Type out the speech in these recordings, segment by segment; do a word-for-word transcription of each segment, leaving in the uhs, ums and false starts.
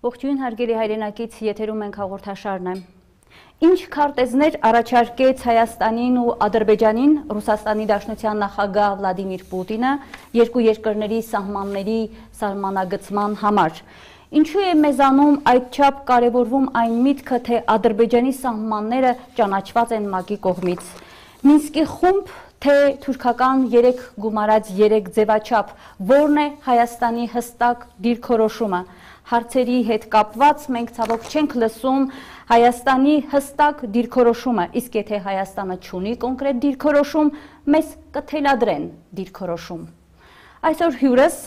Ողջույն հարգելի հայրենակից, եթերում ենք հաղորդաշարն է։ Ինչ քարտեզներ առաջարկեց Հայաստանին ու Ադրբեջանին Ռուսաստանի Դաշնության նախագահ Վլադիմիր Պուտինը երկու երկրների սահմանների սահմանագծման համար։ Ինչու է մեզանում այդչափ կարևորվում այն միտքը, թե Ադրբեջանի սահմանները ճանաչված են ՄԱԿ-ի կողմից։ Մինսկի խումբ, թե թուրքական երեք գումարած երեք ձևաչափ, որն է Հայաստանի հստակ դիրքորոշումը։ Հարցերի հետ կապված մենք ցավոք չենք լսում Հայաստանի հստակ դիրքորոշումը, իսկ եթե Հայաստանը չունի կոնկրետ դիրքորոշում, մեզ կթելադրեն դիրքորոշում։ Այսօր հյուրս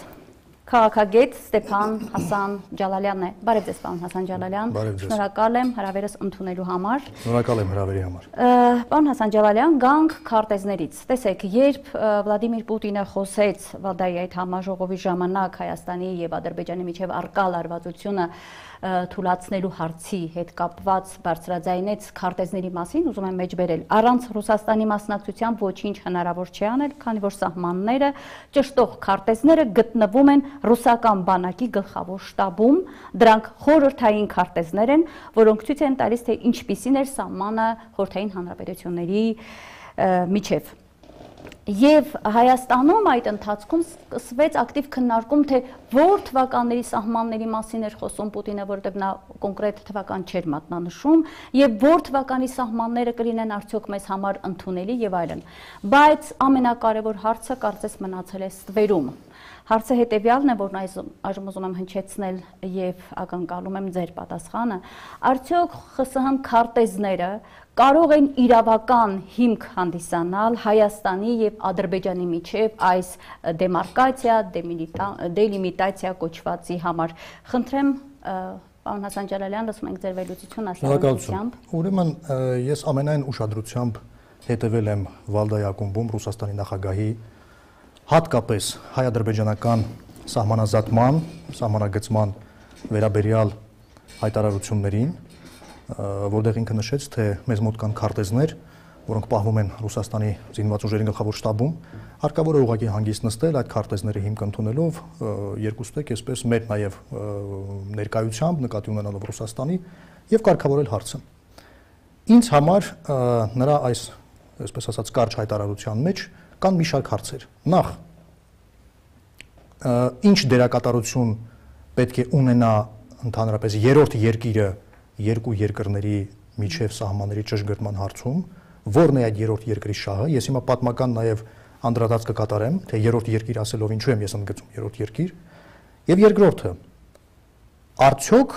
քաղաքագետ Ստեփան Հասան Ջալալյանն է։ Բարև ձեզ, պարոն Հասան Ջալալյան։ Շնորհակալ եմ հրավերս ընդունելու համար։ Շնորհակալ եմ հրավերի համար։ Պարոն Հասան Ջալալյան, գանք քարտեզներից։ Տեսեք, երբ Վլադիմիր Պուտինը խոսեց Վալդայի այդ համաժողովի ժամանակ Հայաստանի եւ Ադրբեջանի միջև առկա լարվածությունը թույլատնելու հարցի հետ կապված բարձրաձայնեց քարտեզների մասին, ուզում եմ մեջբերել, առանց Ռուսաստանի մասնակցությամբ ոչինչ հնարավոր չի անել, քանի որ սահմանները, ճշտող քարտեզները գտնվում են ռուսական բանակի գլխավոր շտաբում, դրանք խորհրդային քարտեզներ են, որոնք ցույց են տալիս, թե ինչպիսին էր սահմանը խորհրդային հանրապետությունների միջև։ Եվ Հայաստանում այդ ընթացքում սկսվեց ակտիվ քննարկում, թե որ թվականների սահմանների մասին էր խոսում Պուտինը, որովհետև նա կոնկրետ թվական չէր մատնանշում, եւ որ թվականի սահմանները կլինեն արդյոք մեզ համար ընդունելի եւ այլն։ Բայց ամենակարևոր հարցը կարծես մնացել է ստվերում։ Հարցը հետևյալն է, որն այժմ ուզում եմ հնչեցնել եւ ակնկալում եմ ձեր պատասխանը։ Արդյոք ԽՍՀՄ քարտեզները կարող են իրավական հիմք հանդիսանալ Հայաստանի եւ Ադրբեջանի միջև այս դեմարկացիա, դելիմիտացիա կոչվածի համար։ Խնդրեմ, պարոն Հասան Ջալալյան, լսում ենք ձեր վերլուծությունը ասացությամբ։ Ուրեմն ես ամենայն ուշադրությամբ հետևել եմ Վալդայի ակումբում Ռուսաստանի նախագահի հատկապես հայ-ադրբեջանական սահմանազատման, սահմանագծման վերաբերյալ հայտարարություններին, որտեղ ինքը նշեց, թե մեզ մոտ կան քարտեզներ, որոնք պահվում են Ռուսաստանի զինված ուժերի գլխավոր շտաբում, հարկավոր է ուղղակի հանգիստ նստել այդ քարտեզների հիմք ընդունելով, երկուստեք այսպես մեր նաև ներկայությամբ նկատի ունենալով Ռուսաստանի եւ կարգավորել հարցը։ Ինձ համար նրա այս, այսպես ասած, կարճ հայտարարության մեջ կան մի շարք հարցեր։ Նախ, ինչ դերակատարություն պետք է ունենա ընդհանրապես երրորդ երկիրը երկու երկրների միջև սահմանների ճշգրտման հարցում, որն է այդ երրորդ երկրի շահը։ Ես հիմա պատմական նաև անդրադարձ կկատարեմ, թե երրորդ երկիր ասելով ինչու եմ ես ընդգծում երրորդ երկիր։ Եվ երկրորդը, արդյոք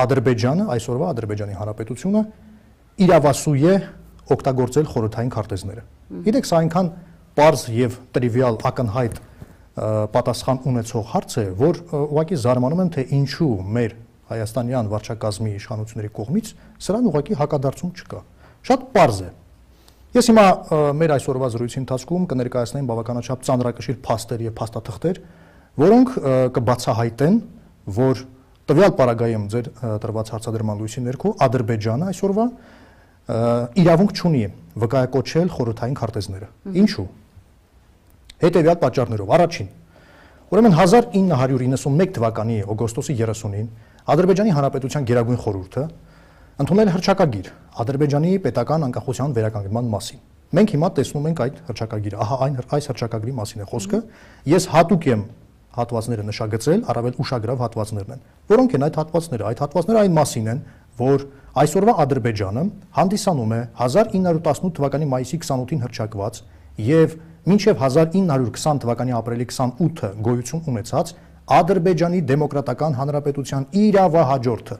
Ադրբեջանը, այսօրվա Ադրբեջանի Հանրապետությունը իրավասու է օգտագործել խորհրդային քարտեզները։ Գիտեք, սա այնքան պարզ եւ տրիվիալ ակնհայտ պատասխան ունեցող հարց է, որ ուղղակի զարմանում եմ, թե ինչու մեր հայաստանյան վարչակազմի իշխանությունների կողմից սրան ուղղակի հակադարձում չկա։ Շատ պարզ է։ Ես հիմա մեր այսօրվա զրույցի ընթացքում կներկայացնեմ բավականաչափ ծանրակշիռ փաստեր եւ փաստաթղթեր, որոնք կբացահայտեն, որ տվյալ պարագայում ձեր տրված հարցադրման լույսի ներքո Ադրբեջանը այսօրվա իրավունք չունի վկայակոչել խորհրդային քարտեզները։ Ինչու՞։ Հետևյալ պատճառներով։ Առաջին, ուրեմն հազար ինը հարյուր իննսունմեկ թվականի օգոստոսի երեսունին Ադրբեջանի Հանրապետության Գերագույն խորհուրդը ընդունել հռչակագիր Ադրբեջանի պետական անկախության վերականգնման մասին։ Մենք հիմա տեսնում ենք այդ հռչակագիրը, ահա այն այս հռչակագրի մասին է խոսքը։ Ես հատուկ եմ հատվածները նշագծել, առավել ուշագրավ հատվածներն են։ Որոնք են այդ հատվածները։ Այդ հատվածները այն մասին են, որ այսօրվա Ադրբեջանը հանդիսանում է հազար ինը հարյուր տասնութ թվականի մայիսի քսանութին հռչակված եւ մինչեւ հազար ինը հարյուր քսան թվականի ապրիլի քսանութը գոյություն ունեցած Ադրբեջանի Դեմոկրատական Հանրապետության իրավահաջորդը։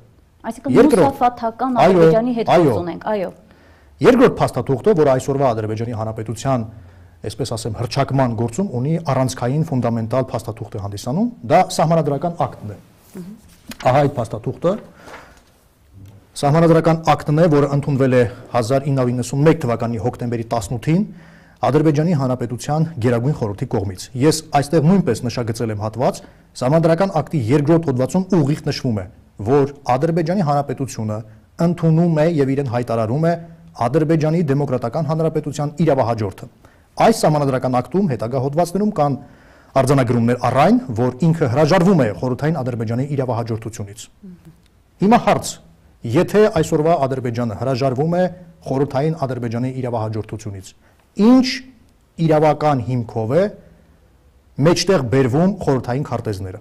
Այսինքն ռուսաֆաթական Ադրբեջանի հետ գործ ունենք, այո։ Երկրորդ փաստաթուղթը, որը այսօրվա Ադրբեջանի Հանրապետության, այսպես ասեմ, հռչակման գործում ունի առանցքային ֆունդամենտալ փաստաթուղթ է հանդիսանում, դա սահմանադրական ակտն է։ Ահա այդ փաստաթուղթը Սահմանադրական ակտն է, որը ընդունվել է հազար ինը հարյուր իննսունմեկ թվականի հոկտեմբերի տասնութին Ադրբեջանի Հանրապետության Գերագույն խորհրդի կողմից։ Ես այստեղ նույնպես նշագծել եմ հատված, Սահմանադրական ակտի երկրորդ հոդվածում ուղիղ նշվում է, որ Ադրբեջանի Հանրապետությունը ընդունում է եւ իրեն հայտարարում է Ադրբեջանի Դեմոկրատական Հանրապետության իրավահաջորդը։ Այս Սահմանադրական ակտում հետագա հոդվածներում կան արձանագրումներ առ այն, որ ինքը հրաժարվում է խորհրդային Ադրբեջանի իրավահաջորդությունից։ Հիմա հարց, եթե այսօրվա Ադրբեջանը հրաժարվում է խորհրդային Ադրբեջանի իրավահաջորդությունից, ինչ իրավական հիմքով է մեջտեղ բերվում խորհրդային քարտեզները։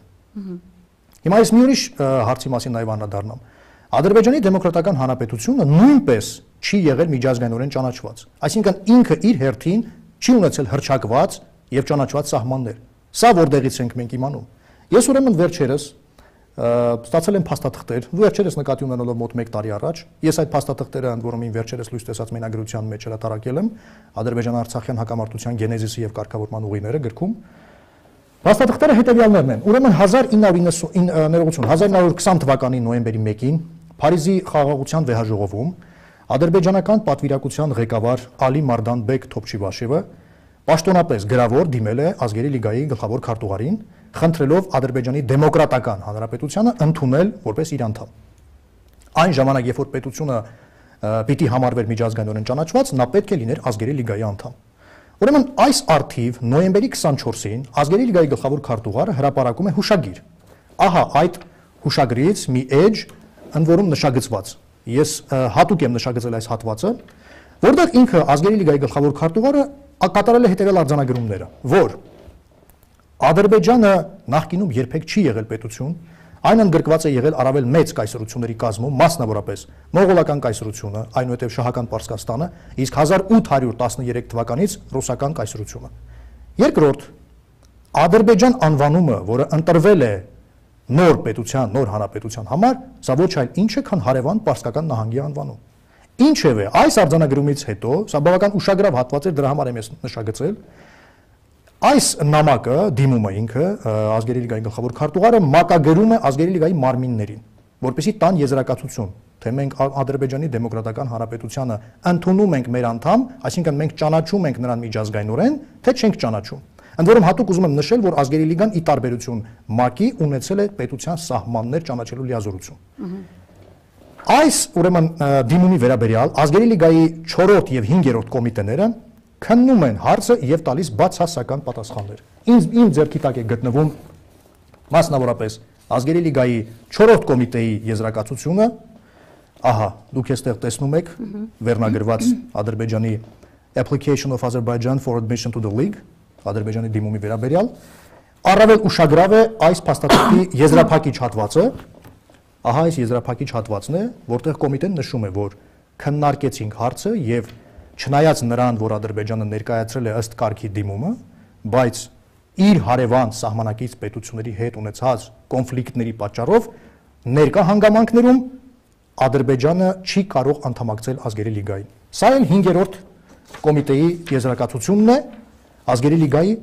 Հիմա ես մի ուրիշ հարցի մասին նաև անդրադառնամ։ Ադրբեջանի դեմոկրատական հանրապետությունը նույնպես չի եղել միջազգայինորեն ճանաչված։ Այսինքն ինքը իր հերթին չի ունեցել հռչակված եւ ճանաչված սահմաններ։ Սա որտեղից ենք մենք իմանում։ Ես ուրեմն վերջերս ստացել եմ փաստաթղթեր, վերջերս նկատի ունենալով մոտ մեկ տարի առաջ, ես այդ փաստաթղթերը ընդ որում ին վերջերս լույս տեսած մենագրության մեջ հրատարակել եմ Ադրբեջան-Արցախյան հակամարտության գենեզիսի եւ կարգավորման ուղիները գրքում։ Փաստաթղթերը հետևյալներն են։ Ուրեմն հազար ինը հարյուր քսան թվականի նոյեմբերի մեկին Փարիզի խաղաղության վեհաժողովում ադրբեջանական պատվիրակության ղեկավար Ալի Մարդանբեկ Թոփչիվաշևը պաշտոնապես գրավոր դիմել է Ազգերի լիգայի գլխավոր քարտուղարին, խնդրելով Ադրբեջանի դեմոկրատական հանրապետությանը ընդունել որպես իր անդամ։ Այն ժամանակ, երբ որ պետությունը պիտի համարվեր միջազգայինորեն ճանաչված, նա պետք է լիներ Ազգերի լիգայի անդամ։ Ուրեմն այս արդիվ նոյեմբերի քսանչորսին Ազգերի լիգայի գլխավոր քարտուղարը հրապարակում է հուշագիր։ Ահա այդ հուշագրից մի էջ, ընդ որում նշագծված։ Ես հատուկ եմ նշագծել այս հատվածը, որտեղ ինքը Ազգերի լիգայի գլխավոր քարտուղարը կատարել է հետևյալ արձանագրումները, որ Ադրբեջանը նախկինում երբեք չի եղել պետություն, այն ընդգրկված է եղել առավել մեծ կայսրությունների կազմում, մասնավորապես մողոլական կայսրությունը, այնուհետև շահական Պարսկաստանը, իսկ հազար ութ հարյուր տասներեք թվականից ռուսական կայսրությունը։ Երկրորդ, Ադրբեջան անվանումը, որը ընտրվել է նոր պետության, նոր հանրապետության համար, սա ոչ այլ ինչ է, քան հարևան Պարսկական նահանգի անվանում։ Ինչևէ, այս արձանագրումից հետո, սա բավական ուշագրավ հատված էր, դրա համար եմ ես նշագծել, այս նամակը, դիմումը ինքը, Ազգերի լիգայի գլխավոր քարտուղարը մակագրում է Ազգերի լիգայի մարմիններին, որպեսզի տան եզրակացություն, թե մենք Ադրբեջանի դեմոկրատական հանրապետությանը ընդունում ենք մեր անդամ, այսինքն մենք ճանաչում ենք նրան միջազգայինորեն, թե չենք ճանաչում։ Ընդ որում հատուկ ուզում եմ նշել, որ Ազգերի լիգան ի տարբերություն ՄԱԿ-ի ունեցել է պետության սահմաններ ճանաչելու լիազորություն։ Այս ուրեմն դիմումի վերաբերյալ Ազգերի լիգայի չորրորդ եւ հինգերորդ կոմիտեները քննում են հարցը եւ տալիս բացասական պատասխաններ։ Ինձ իմ ձեռքի տակ է գտնվում մասնավորապես Ազգերի լիգայի չորրորդ կոմիտեի եզրակացությունը, ահա դուք այստեղ տեսնում եք վերնագրված Ադրբեջանի Application of Azerbaijan for Admission to the League, Ադրբեջանի դիմումի վերաբերյալ, առավել ուշագրավ է այս փաստաթղթի եզրափակիչ հատվածը, ահա այս եզրափակիչ հատվածն է, որտեղ կոմիտեն նշում է, որ քննարկեցինք հարցը եւ չնայած նրան, որ Ադրբեջանը ներկայացրել է ըստ կարգի դիմումը, բայց իր հարևան սահմանակից պետությունների հետ ունեցած կոնֆլիկտների պատճառով ներկա հանգամանքներում Ադրբեջանը չի կարող անդամակցել Ազգերի լիգային։ Սա էլ հինգերորդ կոմիտեի եզրակացությունն է Ազգերի լիգայի,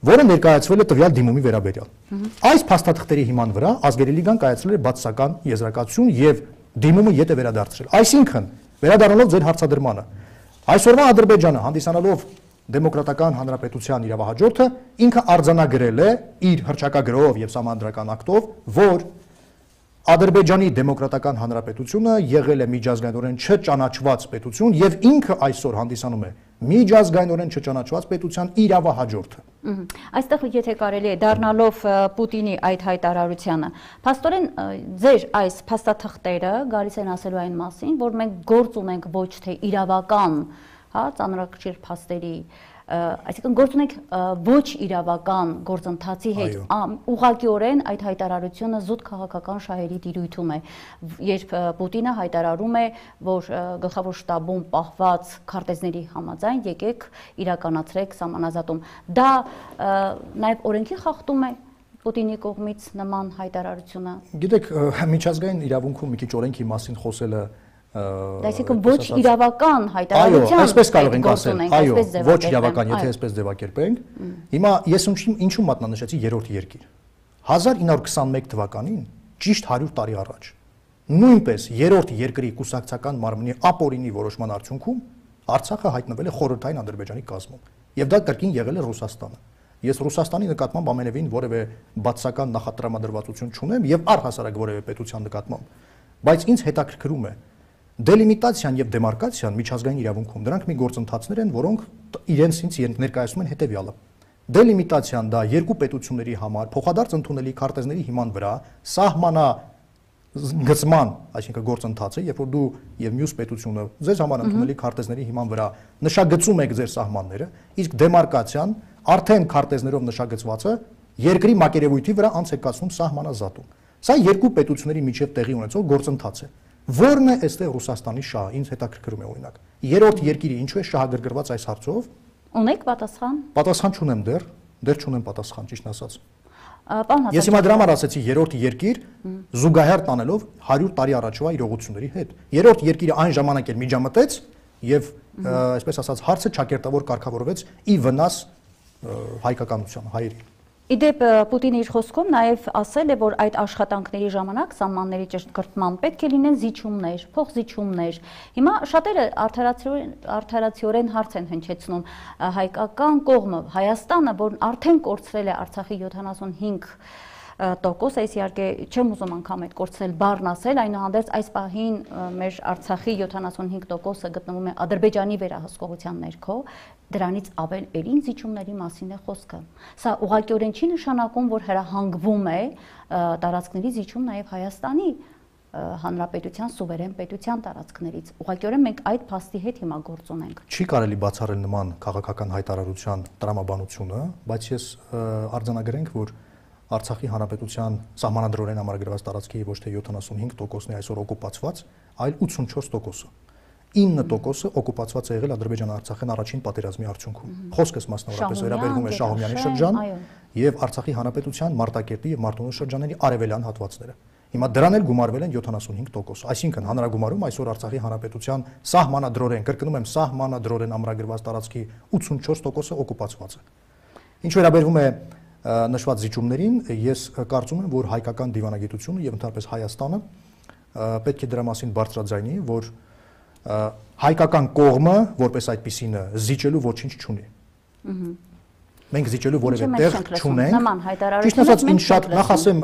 որը ներկայացվել է տվյալ դիմումի վերաբերյալ։ Այս փաստաթղթերի հիման վրա Ազգերի լիգան կայացրել է բացասական եզրակացություն եւ դիմումը ետ է վերադարձրել։ Այսինքն, վերադառնալով ձեր հարցադրմանը, այսօրվա Ադրբեջանը հանդիսանալով դեմոկրատական հանրապետության իրավահաջորդը ինքը արձանագրել է իր հռչակագրով եւ սահմանադրական ակտով, որ Ադրբեջանի դեմոկրատական հանրապետությունը եղել է միջազգայինորեն չճանաչված պետություն եւ ինքը այսօր հանդիսանում է միջազգայինորեն չճանաչված պետության իրավահաջորդը։ Այստեղ եթե կարելի է դառնալով Պուտինի այդ հայտարարությանը, փաստորեն ձեր այս փաստաթղթերը գալիս են ասելու այն մասին, որ մենք գործ ունենք ոչ թե իրավական, հա, ծանրակշիռ փաստերի, այսինքն գործ ունենք ոչ իրավական գործընթացի հետ, ուղղակիորեն այդ հայտարարությունը զուտ քաղաքական շահերի տիրույթում է, երբ Պուտինը հայտարարում է, որ գլխավոր շտաբում պահված քարտեզների համաձայն եկեք իրականացրեք սահմանազատում։ Դա նաև օրենքի խախտում է Պուտինի կողմից նման հայտարարությունը։ Գիտեք, միջազգային իրավունքում մի քիչ օրենքի մասին խոսելը Այսինքն ոչ իրավական հայտարարության, այո, այսպես կարող ենք ասել, այո, ոչ իրավական, եթե այսպես ձևակերպենք։ Հիմա ես ինչու մատնանշեցի երրորդ երկիր։ հազար ինը հարյուր քսանմեկ թվականին, ճիշտ հարյուր տարի առաջ, նույնպես երրորդ երկրի կուսակցական մարմնի ապօրինի որոշման արդյունքում Արցախը հայտնվել է խորհրդային Ադրբեջանի կազմում, եւ դա կրկին եղել է Ռուսաստանը։ Ես Ռուսաստանի նկատմամբ ամենևին որևէ բացասական նախատրամադրվածություն չունեմ եւ առհասարակ որևէ պետության նկատմամբ, բայց ինձ հետաքրքրում է դելիմիտացիան եւ դեմարկացիան միջազգային իրավունքում, դրանք մի գործընթացներ են, որոնք իրենց ինձ ներկայացնում են հետեւյալը։ դելիմիտացիան դա երկու պետությունների համար փոխադարձ ընդունելի քարտեզների հիման վրա սահմանա գծման, այսինքն գործընթացը, երբ որ դու եւ մյուս պետությունը ձեզ համար ընդունելի քարտեզների հիման վրա նշագծում եք ձեր սահմանները, իսկ դեմարկացիան արդեն քարտեզներով նշագծվածը երկրի մակերևույթի վրա անց է կացվում սահմանազատում։ Սա երկու պետությունների միջև տեղի ունեցող գործընթաց է։ Որն է այստեղ Ռուսաստանի շահը, ինձ հետաքրքրում է օրինակ։ Երրորդ երկիրը ինչու է շահագրգռված այս հարցով։ Ունեք պատասխան։ Պատասխան չունեմ դեռ, դեռ չունեմ պատասխան, ճիշտն ասած։ Ես հիմա դրա համար ասացի երրորդ երկիր զուգահեռ տանելով հարյուր տարի առաջվա իրողությունների հետ։ Երրորդ երկիրը այն ժամանակ էլ միջամտեց եւ այսպես ասած հարցը ճակերտավոր կարգավորվեց ի վնաս հայկականության, հայերի։ Իդեպ Պուտինը իր խոսքում նաև ասել է, որ այդ աշխատանքների ժամանակ սահմանների ճշգրտման պետք է լինեն զիջումներ, փոխզիջումներ։ Հիմա շատերը արդարացիորեն հարց են հնչեցնում հայկական կողմը, Հայաստանը, որն արդեն կորցրել է Արցախի յոթանասունհինգ տոկոս, այս իհարկե չեմ ուզում անգամ այդ կորցրել բառն ասել, այնուհանդերձ այս պահին մեր Արցախի յոթանասունհինգ տոկոսը գտնվում է Ադրբեջանի վերահսկողության ներքո, դրանից ավել էլին զիջումների մասին է խոսքը։ Սա ուղղակիորեն չի նշանակում, որ հրահանգվում է տարածքների զիջում նաև Հայաստանի Հանրապետության սուվերեն պետության տարածքներից։ Ուղղակիորեն մենք այդ փաստի հետ հիմա գործ ունենք։ Չի կարելի բացառել նման քաղաքական հայտարարության տրամաբանությունը, բայց ես արձանագրենք, որ Արցախի հանրապետության սահմանադրորեն համարագրված տարածքի ոչ թե յոթանասունհինգ տոկոսն է այսօր օկուպացված, այլ ութսունչորս տոկոսը։ ինը տոկոսը օկուպացված է եղել Ադրբեջան-Արցախյան առաջին պատերազմի արդյունքում։ Խոսքս մասնավորապես վերաբերվում է Շահումյանի շրջան եւ Արցախի հանրապետության Մարտակերտի եւ Մարտունու շրջանների արևելյան հատվածները։ Հիմա դրան էլ գումարվել են յոթանասունհինգ տոկոս, այսինքն հանրագումարում այսօր Արցախի հանրապետության սահմանադրորեն, կրկնում եմ, սահմանադրորեն ամրագրված տարածքի ութսունչորս տոկոսը օկուպացված է։ Ինչ վերաբերվում է նշված զիջումներին, ես կարծում եմ, որ հայկական դիվանագիտությունը եւ ընդհանրապես Հայաստանը պետք է դրա մասին բարձրաձայնի, որ հայկական կողմը որպես այդպիսինը զիջելու ոչինչ չունի։ Մենք զիջելու որևէ տեղ չունենք։ Նման հայտարարություն։ Ճիշտ ասած, ինչ շատ նախ ասեմ,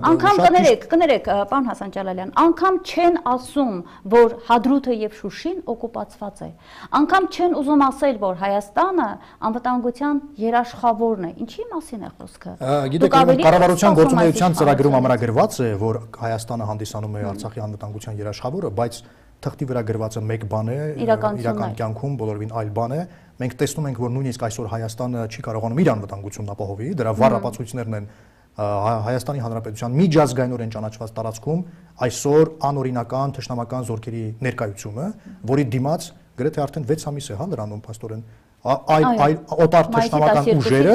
անգամ կներեք, կներեք, պարոն Հասան Ջալալյան, անգամ չեն ասում, որ Հադրութը եւ Շուշին օկուպացված է։ Անգամ չեն ուզում ասել, որ Հայաստանը անվտանգության երաշխավորն է։ Ինչի մասին է խոսքը։ Գիտեք, կառավարության գործունեության ծրագրում ամրագրված է, որ Հայաստանը հանդիսանում է Արցախի անվտանգության երաշխավորը, բայց թղթի վրա գրվածը մեկ բան է, իրական կյանքում բոլորովին այլ բան է։ Մենք տեսնում ենք, որ նույնիսկ այսօր Հայաստանը չի կարողանում իր անվտանգությունն ապահովի, դրա վառ ապացույցներն են Հայաստանի Հանրապետության միջազգայինորեն ճանաչված տարածքում այսօր անօրինական թշնամական զորքերի ներկայությունը, որի դիմաց գրեթե արդեն վեց ամիս է, հա, լրանում փաստորեն այլ այլ օտար թշնամական ուժերը,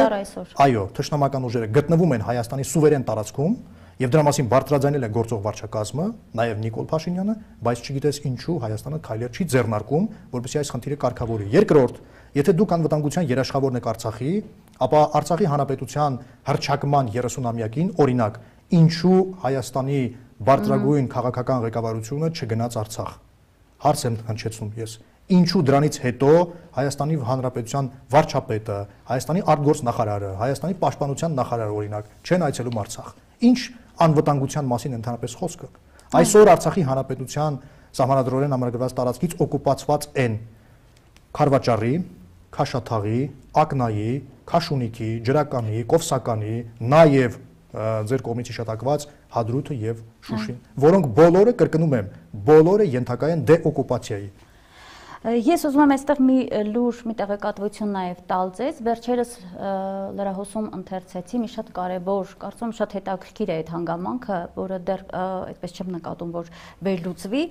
այո, թշնամական ուժերը գտնվում են Հայաստանի սուվերեն տարածքում եւ դրա մասին բարձրաձայնել է գործող վարչակազմը, նաեւ Նիկոլ Փաշինյանը, բայց չգիտես ինչու Հայաստանը քայլեր չի ձեռնարկում, որպեսզի այս խնդիրը կարգավորի։ Երկրորդ, եթե դուք անվտանգության երաշխավորն եք Արցախի, ապա Արցախի հանրապետության հռչակման երեսունամյակին, օրինակ, ինչու Հայաստանի բարձրագույն քաղաքական ղեկավարությունը չգնաց Արցախ։ Հարց եմ հնչեցնում ես։ Ինչու դրանից հետո Հայաստանի Հանրապետության վարչապետը, Հայաստանի արտգործնախարարը, Հայաստանի պաշտպանության նախարարը օրինակ չեն այցելում Արցախ։ Ինչ անվտանգության մասին ընդհանրապես խոսքը։ Այսօր Արցախի Հանրապետության սահմանադրորեն ամրագրված տարածքից օկուպացված են Խարվաճարի, Քաշաթաղի, Ակնայի, Քաշունիքի, Ջրականի, Կովսականի, նաև ձեր կողմից հիշատակված Հադրութը եւ Շուշին, որոնք բոլորը, կրկնում եմ, բոլորը ենթակա են դեօկուպացիայի։ Ես ուզում եմ այստեղ մի լուր, մի տեղեկատվություն նաև տալ ձեզ, վերջերս լրահոսում ընթերցեցի մի շատ կարևոր, կարծում շատ հետաքրքիր է այդ հանգամանքը, որը դեռ այդպես չեմ նկատում, որ վերլուծվի,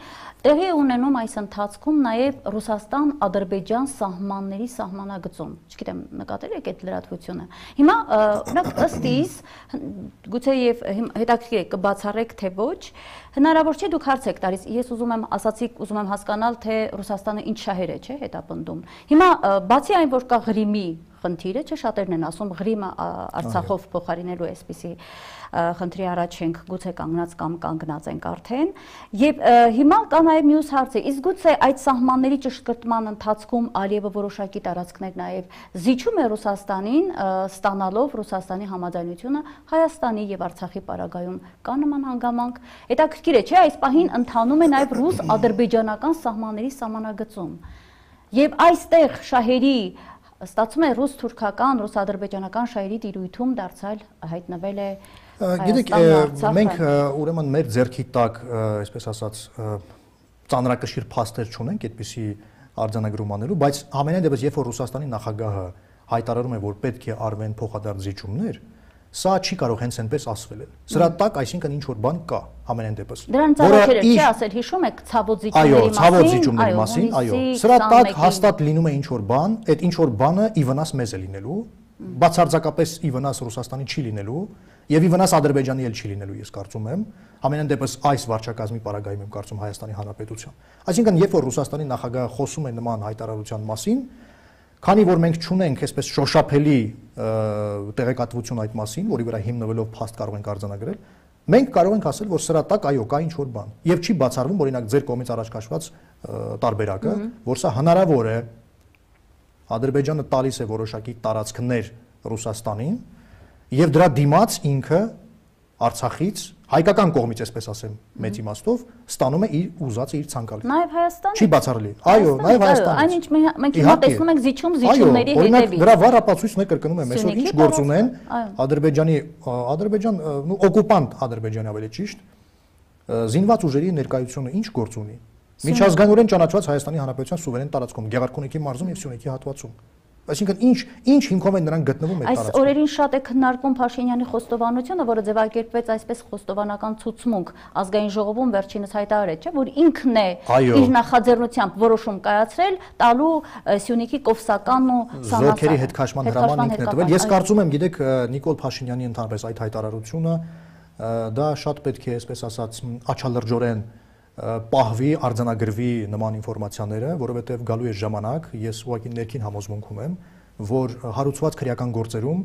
տեղի ունենում այս ընթացքում նաև Ռուսաստան-Ադրբեջան սահմանների սահմանագծում, չգիտեմ նկատել եք այդ լրատվությունը։ Հիմա օրինակ ըստ իս, գուցե եւ հետաքրքիր է կբացառեք թե ոչ, հնարավոր չէ դուք հարց եք տալիս, ես ուզում եմ ասացիք, ուզում եմ հասկանալ, թե Ռուսաստանը ինչ շահեր է, չէ, հետապնդում։ Հիմա բացի այն, որ կա Ղրիմի խնդիրը, չէ, շատերն են ասում Ղրիմը Արցախով փոխարինելու էսպիսի խնդրի առաջ ենք գուցե կանգնած կամ կանգնած ենք արդեն, եւ հիմա կա նաեւ մյուս հարցը, իսկ գուցե այդ սահմանների ճշգրտման ընթացքում Ալիևը որոշակի տարածքներ նաեւ զիջում է Ռուսաստանին, ստանալով Ռուսաստանի համաձայնությունը Հայաստանի եւ Արցախի պարագայում կա նման հանգամանք։ Հետաքրքիր է, չէ, այս պահին ընթանում է նաեւ ռուս-ադրբեջանական սահմանների սահմանագծում։ Եվ այստեղ շահերի ստացվում է ռուս-թուրքական, ռուս-ադրբեջանական շահերի տիրույթում դարձյալ հայտնվել է Գիտեք, մենք ուրեմն մեր ձեռքի տակ, այսպես ասած, ծանրակշիռ փաստեր չունենք այդպիսի արձանագրում անելու, բայց ամենայն դեպս երբ որ Ռուսաստանի նախագահը հայտարարում է, որ պետք է արվեն փոխադարձ զիջումներ, սա չի կարող հենց այնպես ասվել էլ։ Սրա տակ, այսինքն ինչ որ բան կա, ամենայն դեպս։ Դրան ծավալները չի ասել, հիշում եք ցավոտ զիջումների մասին։ Այո, ցավոտ զիջումների մասին, այո։ Սրա տակ հաստատ լինում է ինչ որ բան, այդ ինչ որ բանը ի վնաս մեզ է լինելու, բացարձակապես ի վնաս Ռուսաստանի չի լինելու եւ ի վնաս Ադրբեջանի էլ չի լինելու, ես կարծում եմ, ամենայն դեպս այս վարչակազմի պարագայում եմ կարծում Հայաստանի Հանրապետության։ Այսինքն, երբ որ Ռուսաստանի նախագահը խոսում է նման հայտարարության մասին, քանի որ մենք չունենք այսպես շոշափելի տեղեկատվություն այդ մասին, որի վրա հիմնվելով փաստ կարող ենք արձանագրել, մենք կարող ենք ասել, որ սրա տակ այո, կա ինչ որ բան։ Եվ չի բացառվում, օրինակ ձեր կողմից առաջ քաշված տարբերակը, որ սա հնարավոր է, Ադրբեջանը տալիս է որոշակի տարածքներ Ռուսաստանին, եւ դրա դիմաց ինքը Արցախից հայկական կողմից, այսպես ասեմ, մեծ իմաստով ստանում է իր ուզածը, իր ցանկալի։ Նաեւ Հայաստանից։ Չի բացառելի։ Այո, նաեւ Հայաստանից։ Այնինչ մենք հիմա տեսնում ենք զիջում զիջումների հետևից։ Դրա վառ ապացույցն է կրկնում եմ, այսօր ինչ գործ ունեն Ադրբեջանի, Ադրբեջան, նու օկուպանտ Ադրբեջանի ավելի ճիշտ, զինված ուժերի ներկայությունը ինչ գործ ունի։ Միջազգայինորեն ճանաչված Հայաստանի Հանրապետության սուվերեն տարածքում, Գեղարքունիքի մարզում եւ Սյունիքի հատվածում։ Այսինքն ինչ ինչ հիմքով են նրանք գտնվում այդ տարածքում։ Այս օրերին շատ է քննարկվում Փաշինյանի խոստովանությունը, որը ձևակերպվեց այսպես խոստովանական ցուցմունք ազգային ժողովում վերջինս հայտարարեց, չէ՞, որ ինքն է իր նախաձեռնությամբ որոշում կայացրել տալու Սյունիքի Կովսական ու Զորքերի հետքաշման հրաման ինքն է տվել։ Ես կարծում եմ, գիտեք, Նիկոլ Փաշինյանի ընդհանրապես այդ հայտարարությունը դա շատ պետք է, այսպես ասած, աչալրջորեն պահվի, արձանագրվի նման ինֆորմացիաները, որովհետև գալու է ժամանակ, ես ուղղակի ներքին համոզմունքում եմ, որ հարուցված քրեական գործերում,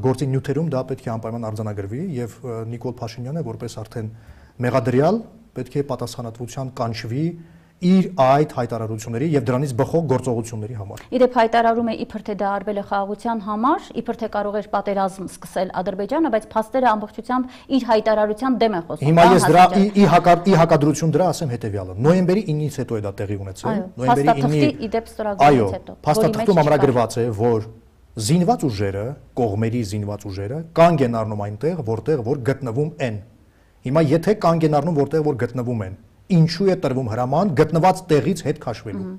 գործի նյութերում դա պետք է անպայման արձանագրվի եւ Նիկոլ Փաշինյանը որպես արդեն մեղադրյալ պետք է պատասխանատվության կանչվի իր այդ հայտարարությունների եւ դրանից բխող գործողությունների համար։ Իրեւ հայտարարում է իբր թե դա արվել է խաղաղության համար, իբր թե կարող էր պատերազմ սկսել Ադրբեջանը, բայց փաստերը ամբողջությամբ իր հայտարարության դեմ են խոսում։ Հիմա ես դրա ի հակառ ի հակադրություն դրա ասեմ հետեւյալը։ Նոյեմբերի ինից հետո է դա տեղի ունեցել, նոյեմբերի ինի իդեպ ստորագրումից հետո։ Փաստաթղթում ամրագրված է, որ զինված ուժերը, կողմերի զինված ուժերը կանգ են առնում այնտեղ, որտեղ որ գտնվում են։ Հիմա եթե կանգ են առնում, որտեղ որ գտնվում են, ինչու է տրվում հրաման գտնված տեղից հետ քաշվելու։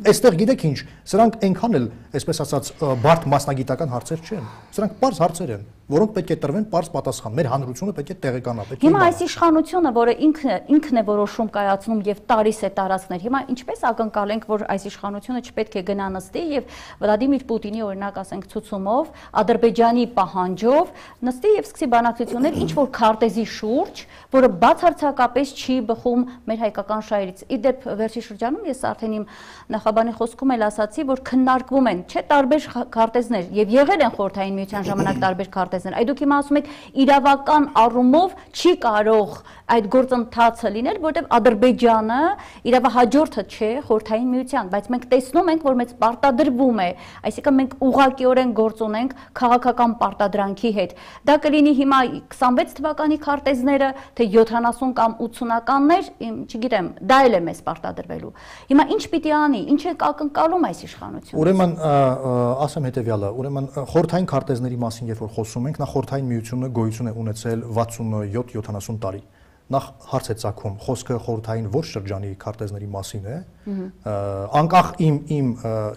Այստեղ գիտեք ինչ, սրանք այնքան էլ, այսպես ասած, բարդ մասնագիտական հարցեր չեն։ Սրանք պարզ հարցեր են, որոնք պետք է տրվեն պարզ պատասխան։ Մեր հանրությունը պետք է տեղեկանա, պետք է։ Հիմա այս իշխանությունը, որը ինքն ինքն է որոշում կայացնում եւ տալիս է տարածքներ, հիմա ինչպես ակնկալենք, որ այս իշխանությունը չպետք է գնա նստի եւ Վլադիմիր Պուտինի օրինակ ասենք ցուցումով, Ադրբեջանի պահանջով նստի եւ սկսի բանակցություններ ինչ որ քարտեզի շուրջ, որը բացարձակապես չի բխում մեր հայկական շահերից։ Իդեպ վերջի շրջանում ես արդեն իմ նախաբանի խոսքում էլ ասացի, որ քննարկվում են, չէ, տարբեր քարտեզներ եւ եղել են խորհրդային միության ժամանակ տարբեր քարտեզներ։ Այդ դուք հիմա ասում եք իրավական առումով չի կարող այդ գործընթացը լինել, որտեղ Ադրբեջանը իրավահաջորդը չէ խորհրդային միության, բայց մենք տեսնում ենք, որ մեծ պարտադրվում է, այսինքն մենք ուղղակիորեն գործ ունենք քաղաքական պարտադրանքի հետ։ Դա կլինի հիմա քսանվեց թվականի քարտեզները, թե յոթանասուն կամ ութսունականներ, չգիտեմ, դա էլ է մեզ պարտադրվելու։ Հիմա ինչ պիտի անի, ինչ է ակնկալում այս իշխանությունը։ Ուրեմն ասեմ հետեւյալը, ուրեմն խորհրդային քարտեզների մասին երբ որ խոսում ենք, նա խորհրդային միությունը գոյություն է ունեցել վաթսունյոթ յոթանասուն տարի։ Նախ հարց է ծագում, խոսքը խորհրդային ոչ շրջանի քարտեզների մասին է, անկախ իմ իմ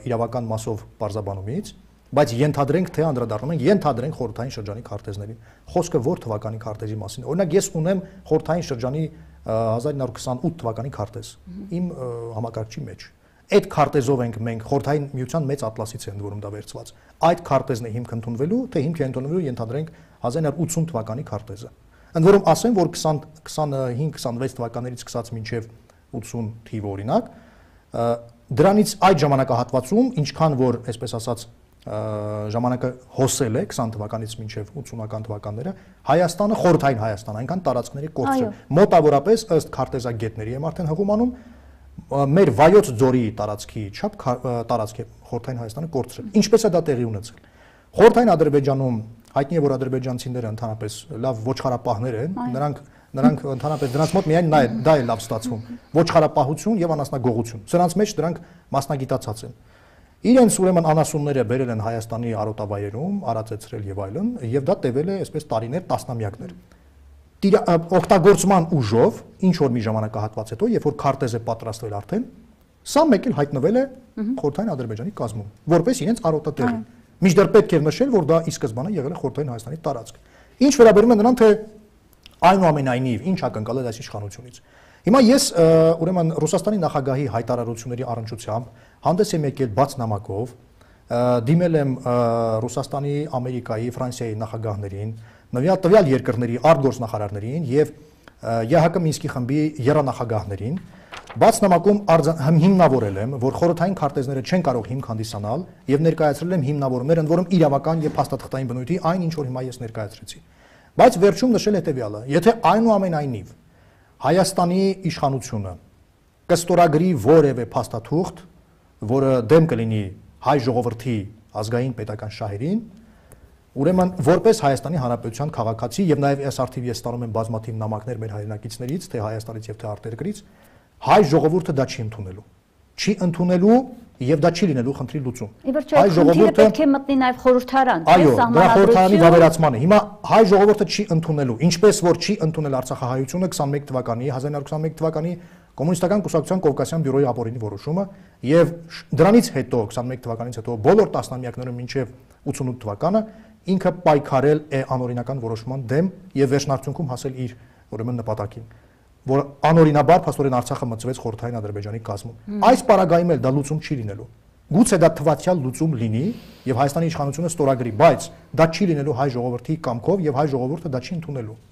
իրավական մասով պարզաբանումից, բայց ենթադրենք թե անդրադառնում ենք, ենթադրենք խորհրդային շրջանի քարտեզներին։ Խոսքը որ թվականի քարտեզի մասին։ Օրինակ ես ունեմ խորհրդային շրջանի հազար իննսուն քսանութ թվականի քարտեզ իմ համակարգչի մեջ։ Այդ քարտեզով ենք մենք խորհրդային միության մեծ ատլասից է ընդ որում դա վերցված։ Այդ քարտեզն է հիմք ընդունվելու, թե հիմք է ընդունվելու ենթադրենք հազար իննսուն ութսուն թվականի քարտեզը։ Ընդ որում ասեմ, որ քսանհինգ քսանվեց թվականներից սկսած մինչև ութսուն թիվը օրինակ, դրանից այդ ժամանակահատվածում, ինչքան որ, այսպես ասած, ժամանակը հոսել է քսան թվականից մինչև ութսունական թվականները, Հայաստանը, խորհրդային Հայաստան, այնքան տարածքների կորցրել։ Մոտավորապես ըստ քարտեզագետների եմ արդեն հղում անում, մեր վայոց ձորի տարածքի չափ տարածք է խորհրդային Հայաստանը կորցրել։ Ինչպես է դա տեղի ունեցել։ Խորհրդային Ադրբեջանում հայտնի է, որ ադրբեջանցիները ընդհանրապես լավ ոչխարապահներ են, նրանք նրանք ընդհանրապես դրանց մոտ միայն դա է լավ ստացվում։ Ոչխարապահություն եւ անասնագողություն։ Սրանց մեջ դրանք մասնագիտացած են։ Իրենց ուրեմն անասունները բերել են Հայաստանի արոտավայրերում, արածեցրել եւ այլն, եւ դա տևել է այսպես տարիներ, տասնամյակներ։ Օգտագործման ուժով ինչ որ մի ժամանակահատված հետո, երբ որ քարտեզ է պատրաստվել արդեն, սա մեկ էլ հայտնվել է Խորհրդային Ադրբեջանի կազմում, որպես իրենց արոտատեղի։ Մինչդեռ պետք է նշել, որ դա ի սկզբանե եղել է Խորհրդային Հայաստանի տարածք։ Ինչ վերաբերում է նրան, թե այնուամենայնիվ ինչ ակնկալել այս իշխանությունից։ Հիմա ես ուրեմն Ռուսաստանի նախագահի հայտարարությունների առնչությամբ հանդես եմ եկել բաց նամակով, դիմել եմ Ռուսաստանի, Ամերիկայի, Ֆրանսիայի նախագահներին, տվյալ երկրների արտգործնախարարներին եւ ԵՀԿ Մինսկի խմբի եռանախագահներին, բաց նամակում հիմնավորել եմ, որ խորհրդային քարտեզները չեն կարող հիմք հանդիսանալ եւ ներկայացրել եմ հիմնավորումներ, ընդ որում իրավական եւ փաստաթղթային բնույթի այն ինչ որ հիմա ես ներկայացրեցի։ Բայց վերջում նշել հետեւյալը. եթե այնուամենայնիվ Հայաստանի իշխանությունը կստորագրի որևէ փաստաթուղթ, որը դեմ կլինի հայ ժողովրդի ազգային պետական շահերին, ուրեմն որպես Հայաստանի Հանրապետության քաղաքացի եւ նաեւ այս արդիվ ես ստանում եմ բազմաթիվ նամակներ մեր հայրենակիցներից, թե Հայաստանից եւ թե արտերկրից, հայ ժողովուրդը դա չի ընդունելու։ Չի ընդունելու եւ դա չի լինելու խնդրի լուծում։ Հայ ժողովուրդը պետք է մտնի նաեւ խորհրդարան, այո, դա խորհրդարանի վավերացմանը։ Հիմա հայ ժողովուրդը չի ընդունելու, ինչպես որ չի ընդունել Արցախահայությունը քսանմեկ թվականի, հազար իննսուն ութ թվականի Կոմունիստական կուսակցության Կովկասյան բյուրոյի ապօրինի որոշումը եւ դրանից հետո քսանմեկ թվականից հետո բոլոր տասնամյակներում մինչեւ ութսունութ թվականը ինքը պայքարել է անօրինական որոշման դեմ եւ վերջնարդյունքում հասել իր ուրեմն նպատակին, որ անօրինաբար փաստորեն Արցախը մտցվեց Խորհրդային Ադրբեջանի կազմում։ Այս պարագայում էլ դա լուծում չի լինելու։ Գուցե դա թվացial լուծում լինի եւ Հայաստանի իշխանությունը ստորագրի, բայց դա չի լինելու հայ ժողովրդի կամքով եւ հայ ժողովուրդը դա չի ընդունելու։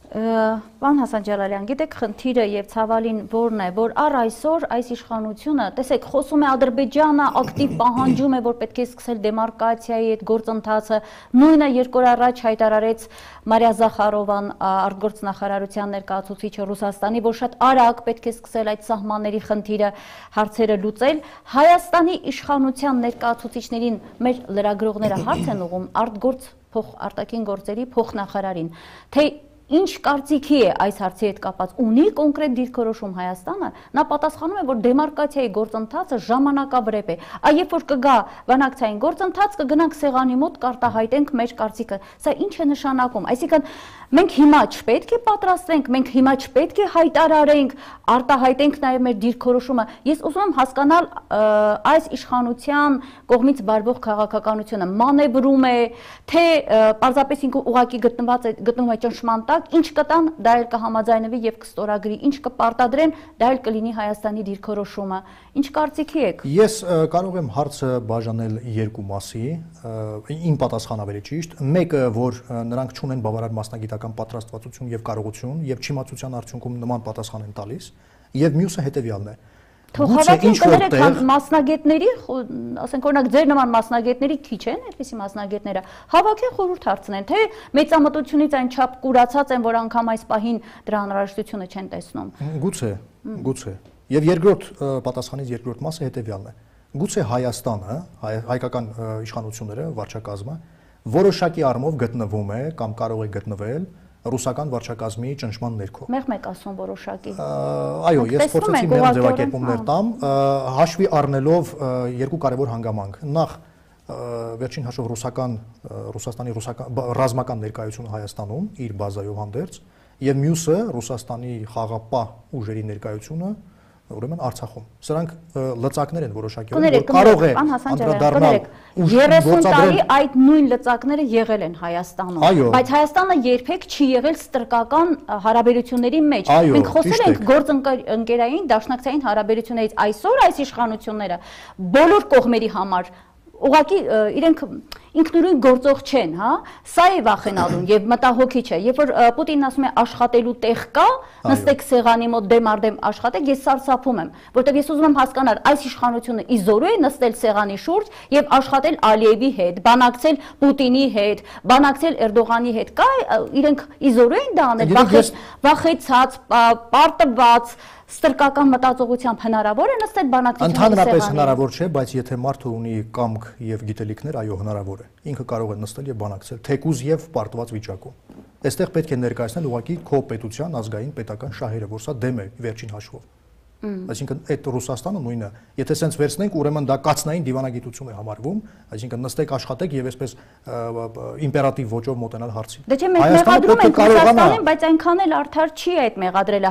Պարոն Հասան Ջալալյան, գիտեք խնդիրը եւ ցավալին որն է, որ առ այսօր այս իշխանությունը, տեսեք, խոսում է Ադրբեջանը ակտիվ պահանջում է, որ պետք է սկսել դեմարկացիայի այդ գործընթացը, նույնը երկու օր առաջ հայտարարեց Մարիա Զախարովան, արտգործնախարարության ներկայացուցիչը Ռուսաստանի, որ շատ արագ պետք է սկսել այդ սահմանների խնդիրը հարցերը լուծել։ Հայաստանի իշխանության ներկայացուցիչներին մեր լրագրողները հարց են ուղղում արտգործ փոխ արտաքին գործերի փոխնախարարին, թե ինչ կարծիքի է այս հարցի հետ կապված, ունի կոնկրետ դիրքորոշում Հայաստանը, նա պատասխանում է, որ դեմարկացիայի գործընթացը ժամանակավրեպ է, այ երբ որ կգա բանակցային գործընթաց, կգնանք սեղանի մոտ կարտահայտենք մեր կարծիքը։ Սա ինչ է նշանակում, այսինքն մենք հիմա չպետք է պատրաստվենք, մենք հիմա չպետք է հայտարարենք, արտահայտենք նաև մեր դիրքորոշումը։ Ես ուզում եմ հասկանալ այս իշխանության կողմից վարվող քաղաքականությունը մանևրում է, թե պարզապես ինքը ուղղակի գտնված է գտնվում է ճնշման տակ, ինչ կտան, դա էլ կհամաձայնվի եւ կստորագրի, ինչ կպարտադրեն, դա էլ կլինի Հայաստանի դիրքորոշումը։ Ինչ կարծիքի եք։ Ես կարող եմ հարցը բաժանել երկու մասի, իմ պատասխանը ավելի ճիշտ, մեկը, որ նրանք չունեն բավարար մասնագիտական պատրաստվածություն եւ կարողություն եւ չիմացության արդյունքում նման պատասխան են տալիս, եւ մյուսը հետեւյալն է։ Թողավակին կներեք մասնագետների, ասենք օրինակ ձեր նման մասնագետների քիչ են, այդպիսի մասնագետները, հավաքեն խորհուրդ հարցնեն, թե մեծամտությունից այն չափ կուրացած են, որ անգամ այս պահին դրա անհրաժեշտությունը չեն տեսնում։ Գուցե, գուցե։ Եվ երկրորդ պատասխանից երկրորդ մասը հետեւյալն է։ Գուցե Հայաստանը, հայկական իշխանությունները, վարչակազմը որոշակի առումով գտնվում է կամ կարող է գտնվել ռուսական վարչակազմի ճնշման ներքո։ Մեղ մեկ ասում որոշակի։ Այո, ես փորձեցի մեր ձևակերպումներ տամ, հաշվի առնելով երկու կարևոր հանգամանք։ Նախ վերջին հաշվով ռուսական Ռուսաստանի ռուսական ռազմական ներկայությունը Հայաստանում իր բազայով հանդերձ եւ մյուսը Ռուսաստանի խաղապահ ուժերի ներկայությունը ուրեմն Արցախում։ Սրանք լծակներ են որոշակի, որ կարող է անդրադառնալ երեսուն տարի այդ նույն լծակները եղել են Հայաստանում, բայց Հայաստանը երբեք չի եղել ստրկական հարաբերությունների մեջ։ Մենք խոսել ենք գործընկերային դաշնակցային հարաբերություններից, այսօր այս իշխանությունները բոլոր կողմերի համար ուղղակի իրենք ինքնուրույն գործող չեն, հա, սա է վախենալուն եւ մտահոգիչ է, երբ որ Պուտինն ասում է աշխատելու տեղ կա, նստեք սեղանի մոտ դեմ առ դեմ աշխատեք, ես սարսափում եմ, որտեղ ես ուզում եմ հասկանալ, այս իշխանությունը իզորու է նստել սեղանի շուրջ եւ աշխատել Ալիևի հետ, բանակցել Պուտինի հետ, բանակցել Էրդողանի հետ, կա իրենք իզորու են դա անել, վախեցած, պարտված ստրկական մտածողությամբ հնարավոր է նստել բանակցության սեղանին։ Ընդհանրապես հնարավոր չէ, բայց եթե մարդը ունի կամք եւ գիտելիքներ, այո, հնարավոր է։ Ինքը կարող է նստել եւ բանակցել, թեկուզ եւ պարտված վիճակում։ Այստեղ պետք է ներկայացնել ուղղակի քո պետության ազգային պետական շահերը, որ սա դեմ է վերջին հաշվով։ Այսինքն այդ Ռուսաստանը նույնը, եթե սենց վերցնենք, ուրեմն դա կացնային դիվանագիտություն է համարվում, այսինքն նստեք աշխատեք եւ այսպես իմպերատիվ ոճով մոտենալ հարցին։ Դե չէ, մենք մեղադրում ենք Ռուսաստանին, բայց այնքան էլ արդար չի այդ մեղադրելը։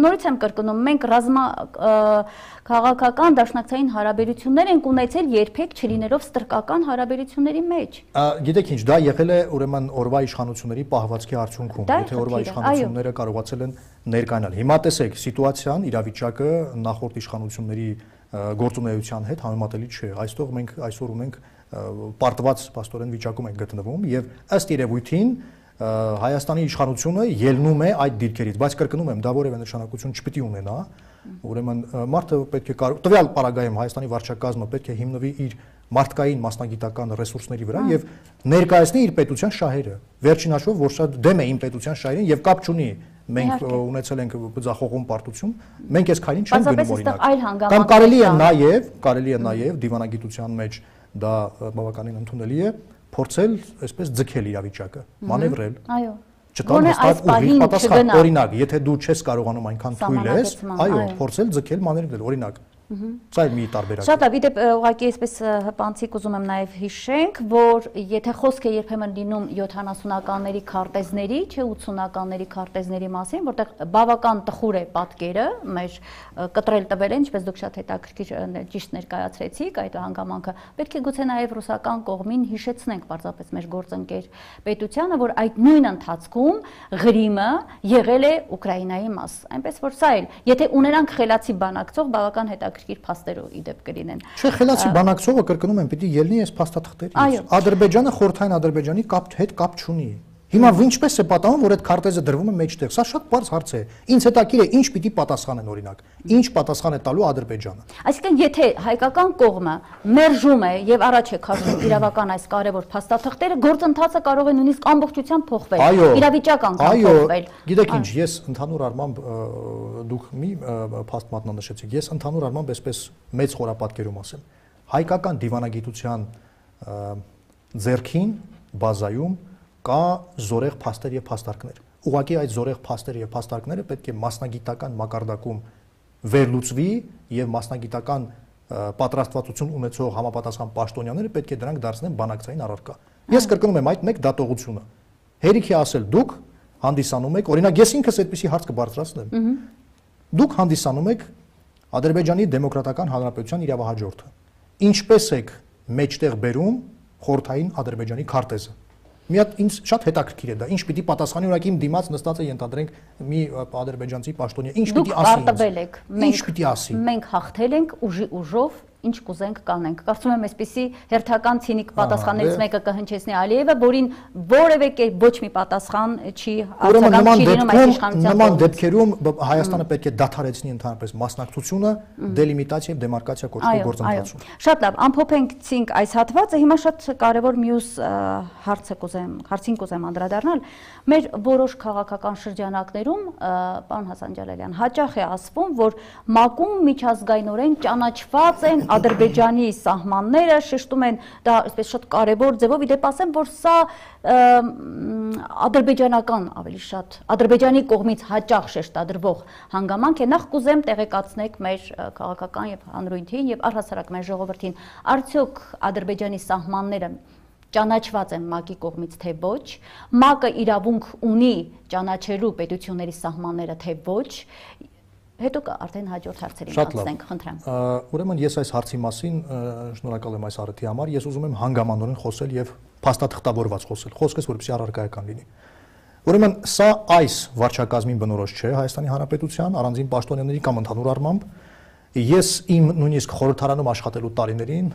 Նորից եմ կրկնում, մենք ռազմա քաղաքական դաշնակցային հարաբերություններ ենք ունեցել երբեք չլինելով ստրկական հարաբերությունների մեջ։ Գիտեք ինչ, դա եղել է ուրեմն օրվա իշխանությունների պահվածքի արդյունքում, եթե օրվա իշխանությունները կարողացել են ներկայանալ։ Հիմա տեսեք, սիտուացիան, իրավիճակը նախորդ իշխանությունների գործունեության հետ համեմատելի չէ։ Այստեղ մենք այսօր ունենք պարտված պաստորեն վիճակում ենք գտնվում եւ ըստ երևույթին Հայաստանի իշխանությունը ելնում է այդ դիրքերից, բայց կրկնում եմ, դա որևէ նշանակություն չպիտի ունենա։ Ուրեմն մարդը պետք է տվյալ պարագայում Հայաստանի վարչակազմը պետք է հիմնվի իր մարդկային մասնագիտական ռեսուրսների վրա եւ ներկայացնի իր պետության շահերը։ Վերջին հաշվով, որ շատ դեմ է իմ պետության շահերին եւ կապ չունի մենք ունեցել ենք բծախողում պարտություն, մենք այս քայլին չենք գնում օրինակ։ Կամ կարելի է նաեւ, կարելի է նաեւ դիվանագիտության մեջ դա բավականին ընդունելի է փորձել այսպես ձգել իրավիճակը, մանևրել։ Այո։ Չտալ հստակ ուղիղ պատասխան։ Օրինակ, եթե դու չես կարողանում այնքան թույլ ես, այո, փորձել ձգել, մանևրել, օրինակ։ Սա է մի տարբերակ։ Շատ լավ, իդեպ ուղղակի այսպես հպանցիկ ուզում եմ նաև հիշենք, որ եթե խոսք է երբեմն լինում յոթանասունականների քարտեզների, չէ ութսունականների քարտեզների մասին, որտեղ բավական տխուր է պատկերը, մեր կտրել տվել են, ինչպես դուք շատ հետաքրքիր ճիշտ ներկայացրեցիք այդ հանգամանքը, պետք է գուցե նաև ռուսական կողմին հիշեցնենք պարզապես մեր գործընկեր պետությանը, որ այդ նույն ընթացքում Ղրիմը եղել է Ուկրաինայի մաս, այնպես որ սա էլ, եթե ունենանք խելացի բանակցող, բավական հետաքրքիր փաստերով իդեպ կլինեն։ Չէ, խելացի բանակցողը կրկնում եմ, պիտի ելնի այս փաստաթղթերից։ Ադրբեջանը խորհրդային Ադրբեջանի կապ հետ կապ չունի։ Հիմա ինչպես է պատահում, որ այդ քարտեզը դրվում է մեջտեղ։ Սա շատ բարձ հարց է։ Ինչ հետաքրքիր է, ինչ պիտի պատասխանեն օրինակ։ Ինչ պատասխան է տալու Ադրբեջանը։ Այսինքն, եթե հայկական կողմը մերժում է եւ առաջ է քաշում իրավական այս կարևոր փաստաթղթերը, գործընթացը կարող է նույնիսկ ամբողջությամբ փոխվել։ Իրավիճակ անգամ փոխվել։ Գիտեք ինչ, ես ընդհանուր առմամբ դուք մի փաստ մատնանշեցիք։ Ես ընդհանուր առմամբ այսպես մեծ խորապատկերում ասեմ։ Հայկական դիվանագիտության ձեռքին բազայում կա զորեղ փաստեր եւ փաստարկներ։ Ուղղակի այդ զորեղ փաստերը եւ փաստարկները պետք է մասնագիտական մակարդակում վերլուծվի եւ մասնագիտական պատրաստվածություն ունեցող համապատասխան պաշտոնյաները պետք է դրանք դարձնեն բանակցային առարկա։ Ես կրկնում եմ այդ մեկ դատողությունը։ Հերիք է ասել դուք հանդիսանում եք, օրինակ ես ինքս այդպիսի հարց կբարձրացնեմ։ Դուք հանդիսանում եք Ադրբեջանի Դեմոկրատական Հանրապետության իրավահաջորդը։ Ինչպես եք մեջտեղ բերում խորհրդային Ադրբեջանի քարտեզը։ Մի հատ ինձ շատ հետաքրքիր է դա, ինչ պիտի պատասխանի, օրինակ իմ դիմաց նստած է ենթադրենք մի ադրբեջանցի պաշտոնյա, ինչ պիտի ասի։ Դուք արտվել եք, մենք պիտի ասի։ Մենք հաղթել ենք ուժի ուժով, ինչ կուզենք կանենք։ Կարծում եմ այսպեսի հերթական ցինիկ պատասխաններից մեկը կհնչեցնի Ալիևը, որին որևէ կերպ ոչ մի պատասխան չի արձագանք չի լինում այս իշխանության։ Նման դեպքերում Հայաստանը պետք է դադարեցնի ընդհանրապես մասնակցությունը դելիմիտացիա եւ դեմարկացիա կոչվող գործընթացում։ Շատ լավ, ամփոփեցինք այս հատվածը, հիմա շատ կարևոր մյուս հարցը կուզեմ, հարցին կուզեմ անդրադառնալ։ Մեր որոշ քաղաքական շրջանակներում, պարոն Հասան Ջալալյան, հաճախ է ասվում, որ ՄԱԿ-ում միջազգայինորեն ճանաչված են Ադրբեջանի սահմանները, շեշտում են դա այսպես շատ կարևոր ձևով, իդեպ ասեմ, որ սա ադրբեջանական ավելի շատ, Ադրբեջանի կողմից հաճախ շեշտադրվող հանգամանք է, նախ կուզեմ տեղեկացնեք մեր քաղաքական եւ հանրույթին եւ առհասարակ մեր ժողովրդին, արդյոք Ադրբեջանի սահմանները ճանաչված են ՄԱԿ-ի կողմից թե ոչ, ՄԱԿ-ը իրավունք ունի ճանաչելու պետությունների սահմանները թե ոչ, հետո արդեն հաջորդ հարցերին անցնենք, խնդրեմ։ Ուրեմն ես այս հարցի մասին շնորհակալ եմ այս առիթի համար, ես ուզում եմ հանգամանորեն խոսել եւ փաստաթղթավորված խոսել, խոսքս որպեսզի առարկայական լինի։ Ուրեմն սա այս վարչակազմին բնորոշ չէ Հայաստանի Հանրապետության առանձին պաշտոնյաների կամ ընդհանուր առմամբ, ես իմ նույնիսկ խորհրդարանում աշխատելու տարիներին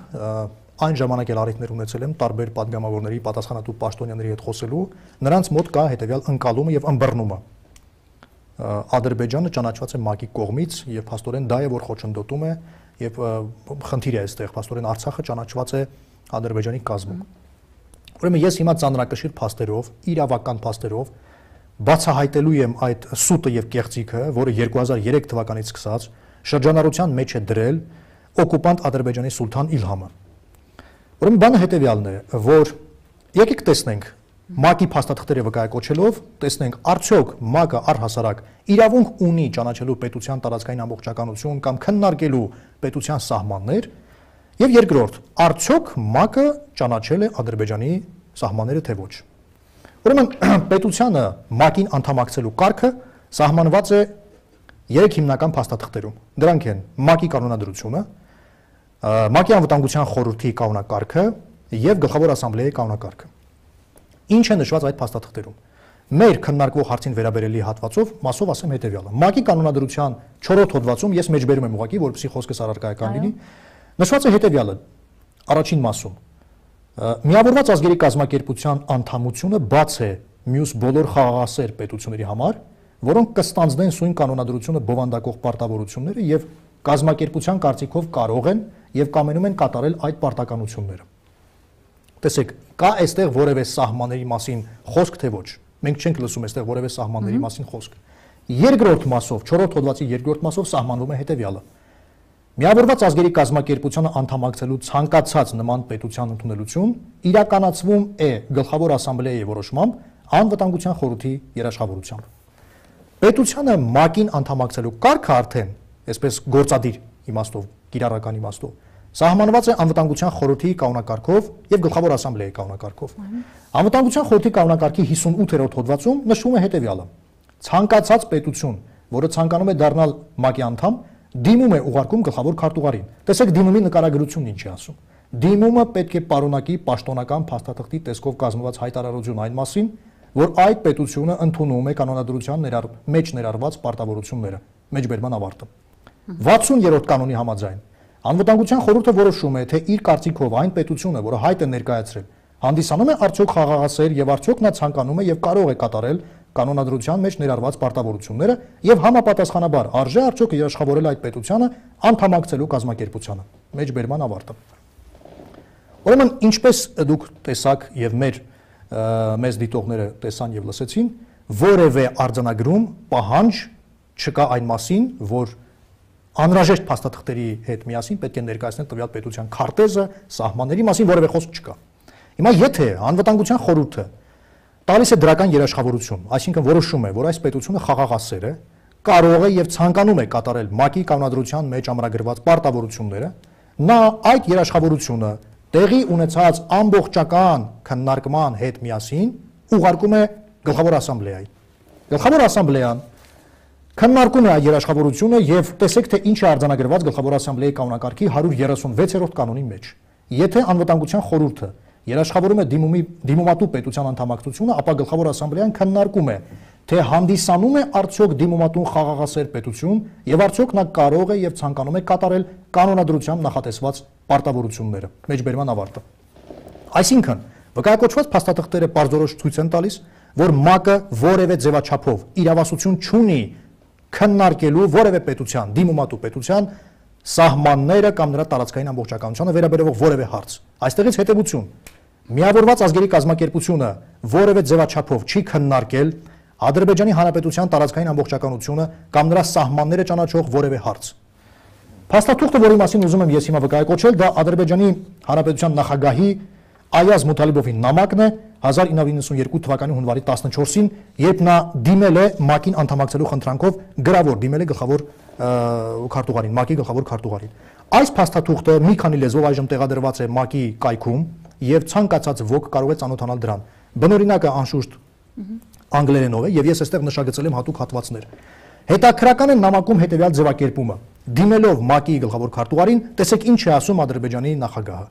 այն ժամանակ էլ առիթներ ունեցել եմ տարբեր падգամավորների, պատասխանատու պաշտոնյաների հետ խոսելու, նրանց մոտ կա հետեւյալ ընկալումը եւ ըմբռնումը։ Ադրբեջանը ճանաչված է ՄԱԿ-ի կողմից եւ փաստորեն դա է որ խոչընդոտում է եւ խնդիր է այստեղ, փաստորեն Արցախը ճանաչված է Ադրբեջանի կազմում։ Ուրեմն ես հիմա ծանրակշիռ փաստերով, իրավական փաստերով բացահայտելու եմ այդ սուտը եւ կեղծիքը, որը երկու հազար երեք թվականից սկսած շրջանառության մեջ է դրել օկուպանտ Ադրբեջանի սուլթան Իլհամը։ Ուրեմն բանը հետեւյալն է, որ եկեք տեսնենք ՄԱԿ-ի փաստաթղթերը վկայակոչելով, տեսնենք արդյոք ՄԱԿ-ը առհասարակ իրավունք ունի ճանաչելու պետության տարածքային ամբողջականություն կամ քննարկելու պետության սահմաններ, եւ երկրորդ, արդյոք ՄԱԿ-ը ճանաչել է Ադրբեջանի սահմանները թե ոչ։ Ուրեմն պետությանը ՄԱԿ-ին անդամակցելու կարգը սահմանված է երեք հիմնական փաստաթղթերում։ Դրանք են ՄԱԿ-ի կանոնադրությունը, ՄԱԿ-ի անվտանգության խորհրդի կանոնակարգը եւ Գլխավոր ասամբլեայի կանոնակարգը։ Ինչ է նշված այդ փաստաթղթերում։ Մեր քննարկվող հարցին վերաբերելի հատվածով մասով ասեմ հետեւյալը։ ՄԱԿ-ի կանոնադրության չորրորդ հոդվածում ես մեջբերում եմ ուղղակի, որպեսզի խոսքս առարկայական լինի, նշված է հետեւյալը։ Առաջին մասում միավորված ազգերի կազմակերպության անդամությունը բաց է մյուս բոլոր խաղաղասեր պետությունների համար, որոնք կստանձնեն սույն կանոնադրությունը բովանդակող պարտավորությունները եւ կազմակերպության կարծիքով կարող են եւ կամենում են կատարել այդ պարտականությունները։ Տեսեք, կա այստեղ որևէ սահմանների մասին խոսք թե ոչ։ Մենք չենք լսում այստեղ որևէ սահմանների մասին խոսք։ Երկրորդ մասով, չորրորդ հոդվածի երկրորդ մասով սահմանվում է հետեւյալը։ Միավորված ազգերի կազմակերպությանը անդամակցելու ցանկացած նման պետության ընդունելություն իրականացվում է Գլխավոր ասամբլեայի որոշմամբ անվտանգության խորհրդի երաշխավորությամբ։ Պետությանը ՄԱԿ-ին անդամակցելու կարգը արդեն, այսպես գործադիր իմաստով, կիրառական իմաստով, սահմանված է անվտանգության խորհրդի կանոնակարգով եւ Գլխավոր ասամբլեայի կանոնակարգով։ Անվտանգության խորհրդի կանոնակարգի հիսունութերորդ հոդվածում նշվում է հետեւյալը. ցանկացած պետություն, որը ցանկանում է դառնալ ՄԱԿ-ի անդամ, դիմում է ուղարկում գլխավոր քարտուղարին։ Տեսեք դիմումի նկարագրությունն ինչ է ասում։ Դիմումը պետք է պարունակի պաշտոնական փաստաթղթի տեսքով կազմված հայտարարություն այն մասին, որ այդ պետությունը ընդունում է կանոնադրության ներառ մեջ ներառված պարտավորությունները, մեջբերման ավարտը։ վաթսուներորդ կանոնի համաձայն Անվտանգության խորհուրդը որոշում է, թե իր կարծիքով այն պետությունը, որը հայտ է ներկայացրել, հանդիսանում է արդյոք խաղաղասեր եւ արդյոք նա ցանկանում է եւ կարող է կատարել կանոնադրության մեջ ներառված պարտավորությունները եւ համապատասխանաբար արժե արդյոք երաշխավորել այդ պետությանը անդամակցելու կազմակերպությանը։ Մեջբերման ավարտը։ Ուրեմն ինչպես դուք տեսաք եւ մեր մեզ դիտողները տեսան եւ լսեցին, որևէ արձանագրում պահանջ չկա այն մասին, որ անհրաժեշտ փաստաթղթերի հետ միասին պետք է ներկայացնել տվյալ պետության քարտեզը, սահմանների մասին որևէ խոսք չկա։ Հիմա եթե անվտանգության խորհուրդը տալիս է դրական երաշխավորություն, այսինքն որոշում է, որ այս պետությունը խաղաղասեր է, կարող է եւ ցանկանում է կատարել ՄԱԿ-ի կանոնադրության մեջ ամրագրված պարտավորությունները, նա այդ երաշխավորությունը տեղի ունեցած ամբողջական քննարկման հետ միասին ուղարկում է Գլխավոր ասամբլեային։ Գլխավոր ասամբլեան քննարկում է այդ երաշխավորությունը եւ տեսեք թե ինչ է արձանագրված Գլխավոր ասամբլեայի կանոնակարգի հարյուր երեսունվեցերորդ կանոնի մեջ։ Եթե անվտանգության խորհուրդը երաշխավորում է դիմումի դիմումատու պետության անդամակցությունը, ապա Գլխավոր ասամբլեան քննարկում է, թե հանդիսանում է արդյոք դիմումատուն խաղաղասեր պետություն եւ արդյոք նա կարող է եւ ցանկանում է կատարել կանոնադրությամբ նախատեսված պարտավորությունները։ Մեջբերման ավարտը։ Այսինքն, վկայակոչված փաստաթղթերը պարզորոշ ցույց են տալիս, որ ՄԱԿ-ը որևէ ձևաչափով իրավասություն չունի քննարկելու որևէ պետության, դիմումատու պետության սահմանները կամ նրա տարածքային ամբողջականությանը վերաբերող որևէ հարց։ Այստեղից հետևություն. միավորված ազգերի կազմակերպությունը որևէ ձևաչափով չի քննարկել Ադրբեջանի Հանրապետության տարածքային ամբողջականությունը կամ նրա սահմանները ճանաչող որևէ հարց։ Փաստաթուղթը, որի մասին ուզում եմ ես հիմա վկայակոչել, դա Ադրբեջանի Հանրապետության նախագահի Այազ Մութալիբովի նամակն է հազար ինը հարյուր նվաթ թվականի հունվարի տասնչորսին, երբ նա դիմել է ՄԱԿ-ին անդամակցելու խնդրանքով գրավոր դիմել է գլխավոր քարտուղարին, ՄԱԿ-ի գլխավոր քարտուղարին։ Այս փաստաթուղթը մի քանի լեզվով այժմ տեղադրված է ՄԱԿ-ի կայքում եւ ցանկացած ոք կարող է ծանոթանալ դրան։ Բնօրինակը անշուշտ անգլերենով է եւ ես այստեղ նշագծել եմ հատուկ հատվածներ։ Հետաքրական է նամակում հետեւյալ ձևակերպումը. դիմելով ՄԱԿ-ի գլխավոր քարտուղարին, տեսեք ինչ է ասում Ադրբեջանի նախագահը։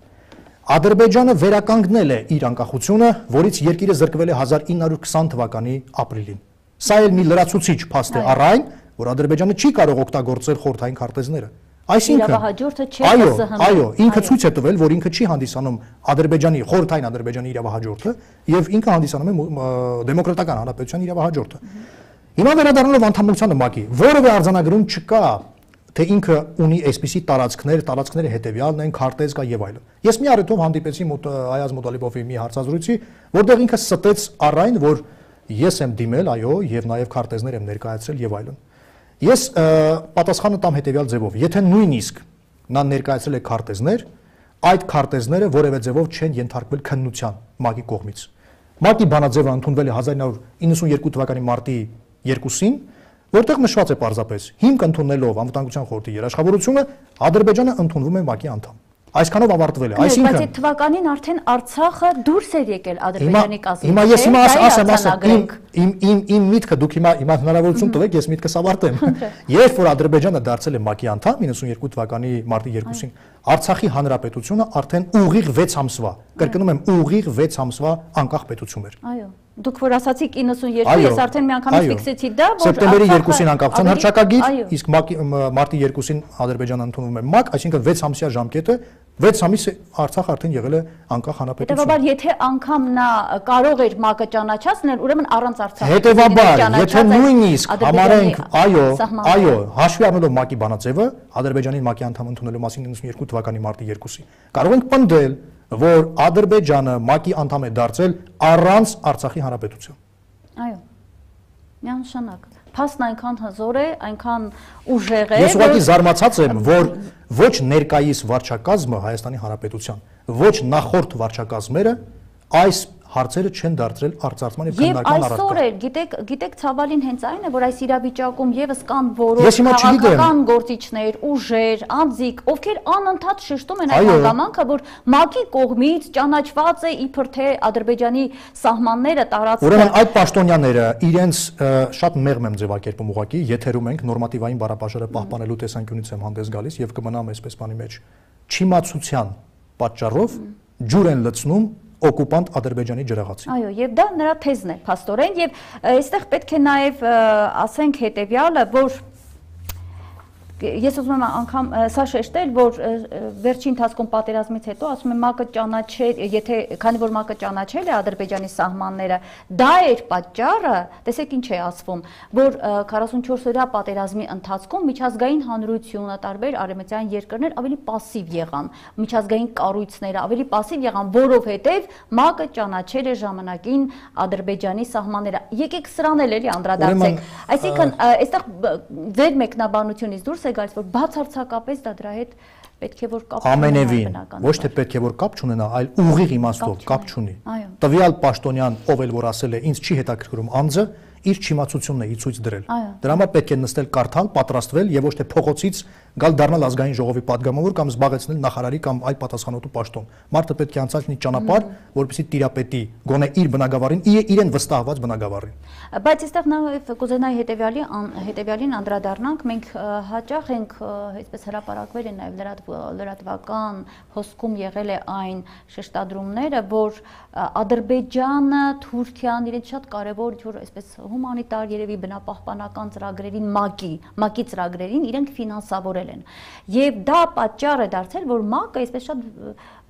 Ադրբեջանը վերականգնել է իր անկախությունը, որից երկիրը զրկվել է հազար ինը հարյուր քսան թվականի ապրիլին։ Սա էլ մի լրացուցիչ փաստ է առ այն, որ Ադրբեջանը չի կարող օգտագործել խորհրդային քարտեզները։ Այսինքն, այո, այո, ինքը ցույց է տվել, որ ինքը չի հանդիսանում Ադրբեջանի խորհրդային Ադրբեջանի իրավահաջորդը եւ ինքը հանդիսանում է դեմոկրատական հանրապետության իրավահաջորդը։ Հիմա վերադառնալով անդամությանը ՄԱԿ-ի, որևէ արձանագրում չկա, թե ինքը ունի այսպիսի տարածքներ, տարածքները հետեւյալն են, քարտեզ կա եւ այլն։ Ես մի առիթով հանդիպեցի Այազ Մութալիբովի մի հարցազրույցի, որտեղ ինքը ստեց առ այն, որ ես եմ դիմել, այո, եւ նաեւ քարտեզներ եմ ներկայացրել եւ այլն։ Ես պատասխանը տամ հետեւյալ ձևով. եթե նույնիսկ նա ներկայացրել է քարտեզներ, այդ քարտեզները որևէ ձևով չեն ենթարկվել քննության ՄԱԿ-ի կողմից։ ՄԱԿ-ի բանաձևը ընդունվել է հազար իննսուն իննսունյոթ թվականի մարտի երկուսին, որտեղ նշված է պարզապես հիմք ընդունելով Անվտանգության խորհրդի երաշխավորությունը Ադրբեջանը ընդունվում է ՄԱԿ-ի անդամ։ Այսքանով ավարտվել է, այսինքն բայց այդ թվականին արդեն Արցախը դուրս էր եկել Ադրբեջանի կազմից։ Հիմա ես հիմա ասեմ, ասեմ, իմ իմ իմ միտքը դուք հիմա հիմա հնարավորություն տվեք, ես միտքս ավարտեմ։ Երբ որ Ադրբեջանը դարձել է ՄԱԿ-ի անդամ իննսունյոթ թվականի մարտի երկուսին, Արցախի հանրապետությունը արդեն ուղիղ վեց ամսվա, կրկնում եմ, ուղիղ վեց ամսվա անկախ պետություն էր։ Այո։ Դուք որ ասացիք իննսունյոթ, ես արդեն մի անգամից ֆիքսեցի դա, որ սեպտեմբերի երկուսին անկախության հռչակագիր, իսկ մարտի երկուսին Ադրբեջանը ընդունվում է ՄԱԿ, այսինքն վեց ամսյա ժամկետը, վեց ամիս Արցախը արդեն եղել է անկախ հանրապետություն։ Հետևաբար, եթե անգամ նա կարող էր ՄԱԿ-ը ճանաչացնել, ուրեմն առանց Արցախի։ Հետևաբար, եթե նույնիսկ համարենք, այո, այո, հաշվի առնելով ՄԱԿ-ի բանաձևը, Ադրբեջանին ՄԱԿ-ի անդամ ընդունելու մասին իննսունյոթ թվականի մարտի երկուսին, կարող ենք պնդել, որ Ադրբեջանը ՄԱԿ-ի անդամ է դարձել առանց Արցախի հանրապետության։ Այո։ Միանշանակ։ Փաստն այնքան հզոր է, այնքան ուժեղ է։ Ես ուղղակի զարմացած եմ, որ ոչ ներկայիս վարչակազմը Հայաստանի Հանրապետության, ոչ նախորդ վարչակազմերը այս հարցերը չեն դարձրել արծարծման եւ քննարկման առարկա։ Եվ այսօր էլ, գիտեք, գիտեք ցավալին հենց այն է, որ այս իրավիճակում եւս կան որոշ քաղաքական գործիչներ, ուժեր, անձիկ, ովքեր անընդհատ շեշտում են այդ հանգամանքը, որ ՄԱԿ-ի կողմից ճանաչված է իբր թե Ադրբեջանի սահմանները տարածքը։ Ուրեմն այդ պաշտոնյաները իրենց շատ մեղմ եմ ձևակերպում ուղղակի, եթերում ենք նորմատիվային բառապաշարը պահպանելու տեսանկյունից եմ հանդես գալիս եւ կմնամ այսպես բանի մեջ։ Չիմացության պատճառով ջուր են լցնում օկուպանտ Ադրբեջանի ջրաղացի։ Այո, եւ դա նրա թեզն է, փաստորեն, եւ այստեղ պետք է նաեւ ասենք հետեւյալը, որ ես ուզում եմ անգամ սա շեշտել, որ վերջի ընթացքում պատերազմից հետո ասում եմ ՄԱԿ-ը ճանաչել, եթե քանի որ ՄԱԿ-ը ճանաչել է Ադրբեջանի սահմանները, դա էր պատճառը, տեսեք ինչ է ասվում, որ քառասունչորս օրյա պատերազմի ընթացքում միջազգային հանրությունը, տարբեր արևմտյան երկրներ ավելի պասիվ եղան, միջազգային կառույցները ավելի պասիվ եղան, որովհետև ՄԱԿ-ը ճանաչել է ժամանակին Ադրբեջանի սահմանները։ Եկեք սրան էլ էլի անդրադարձենք։ Այսինքն, այստեղ ձեր մեկնաբանությունից դուրս գալիս, որ բացարձակապես դա դրա հետ պետք է որ կապ ամենևին, ոչ թե պետք է որ կապ չունենա, այլ ուղիղ իմաստով կապ չունի։ Տվյալ պաշտոնյան, ով էլ որ ասել է, ինձ չի հետաքրքրում անձը, իր չիմացությունն է ցույց դրել։ Դրա համար պետք է նստել կարդալ, պատրաստվել եւ ոչ թե փողոցից գալ դառնալ ազգային ժողովի падգամավոր կամ զբաղեցնել նախարարի կամ այլ պատասխանատու պաշտոն։ Մարդը պետք է անցնի ճանապարհ, որպեսզի տիրապետի գոնե իր բնակավարին, իրեն վստահված բնակավարին։ Բայց այստեղ նաեւ կուզենայի հետեւյալի հետեւյալին անդրադառնանք, մենք հաճախ ենք այսպես հրապարակվել են նաեւ լրատվական հոսքում եղել է այն շեշտադրումները, որ Ադրբեջանը, Թուրքիան իրենց շատ կարևոր ինչ որ այսպես հումանիտար երևի բնապահպանական ծրագրերին ՄԱԿ-ի, ՄԱԿ-ի ծրագրերին իրենք ֆինանսավորել են։ Եւ դա պատճառ է դարձել, որ ՄԱԿ-ը այսպես շատ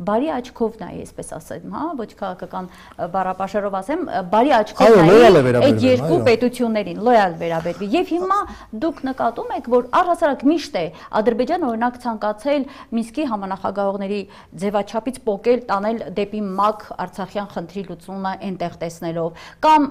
բարի աչքով նայի, այսպես ասեմ, հա, ոչ քաղաքական բառապաշարով ասեմ, բարի աչքով նայի այդ երկու պետություններին, լոյալ վերաբերվի։ Եվ հիմա դուք նկատում եք, որ առհասարակ միշտ է Ադրբեջանը օրինակ ցանկացել Մինսկի համանախագահողների ձևաչափից պոկել տանել դեպի ՄԱԿ Արցախյան խնդրի լուծումը այնտեղ տեսնելով, կամ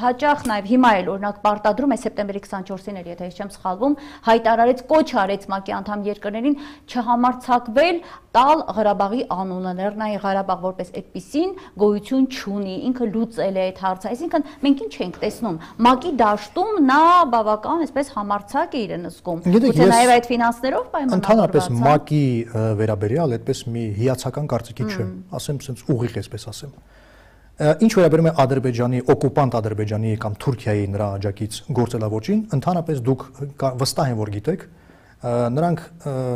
հաճախ նաև հիմա էլ օրինակ պարտադրում է սեպտեմբերի քսանչորսին էլ, եթե ես չեմ սխալվում, հայտարարեց, կոչ արեց ՄԱԿ-ի անդամ երկրներին չհամարձակվել տալ Ղարաբաղի անունը, Լեռնային Ղարաբաղ որպես այդպիսին գոյություն չունի, ինքը լուծել է այդ հարցը, այսինքն մենք ինչ ենք տեսնում, ՄԱԿ-ի դաշտում նա բավական այսպես համարձակ է իրեն զգում, գուցե նաև այդ ֆինանսներով պայմանավորված։ Ընդհանրապես ՄԱԿ-ի վերաբերյալ այդպես մի հիացական կարծիքի չեմ, ասեմ sense ուղիղ այսպես ասեմ։ Ինչ վերաբերում է Ադրբեջանի, օկուպանտ Ադրբեջանի կամ Թուրքիայի նրա աջակից գործելավոճին, ընդհանրապես դուք վստահ եմ որ գիտեք, նրանք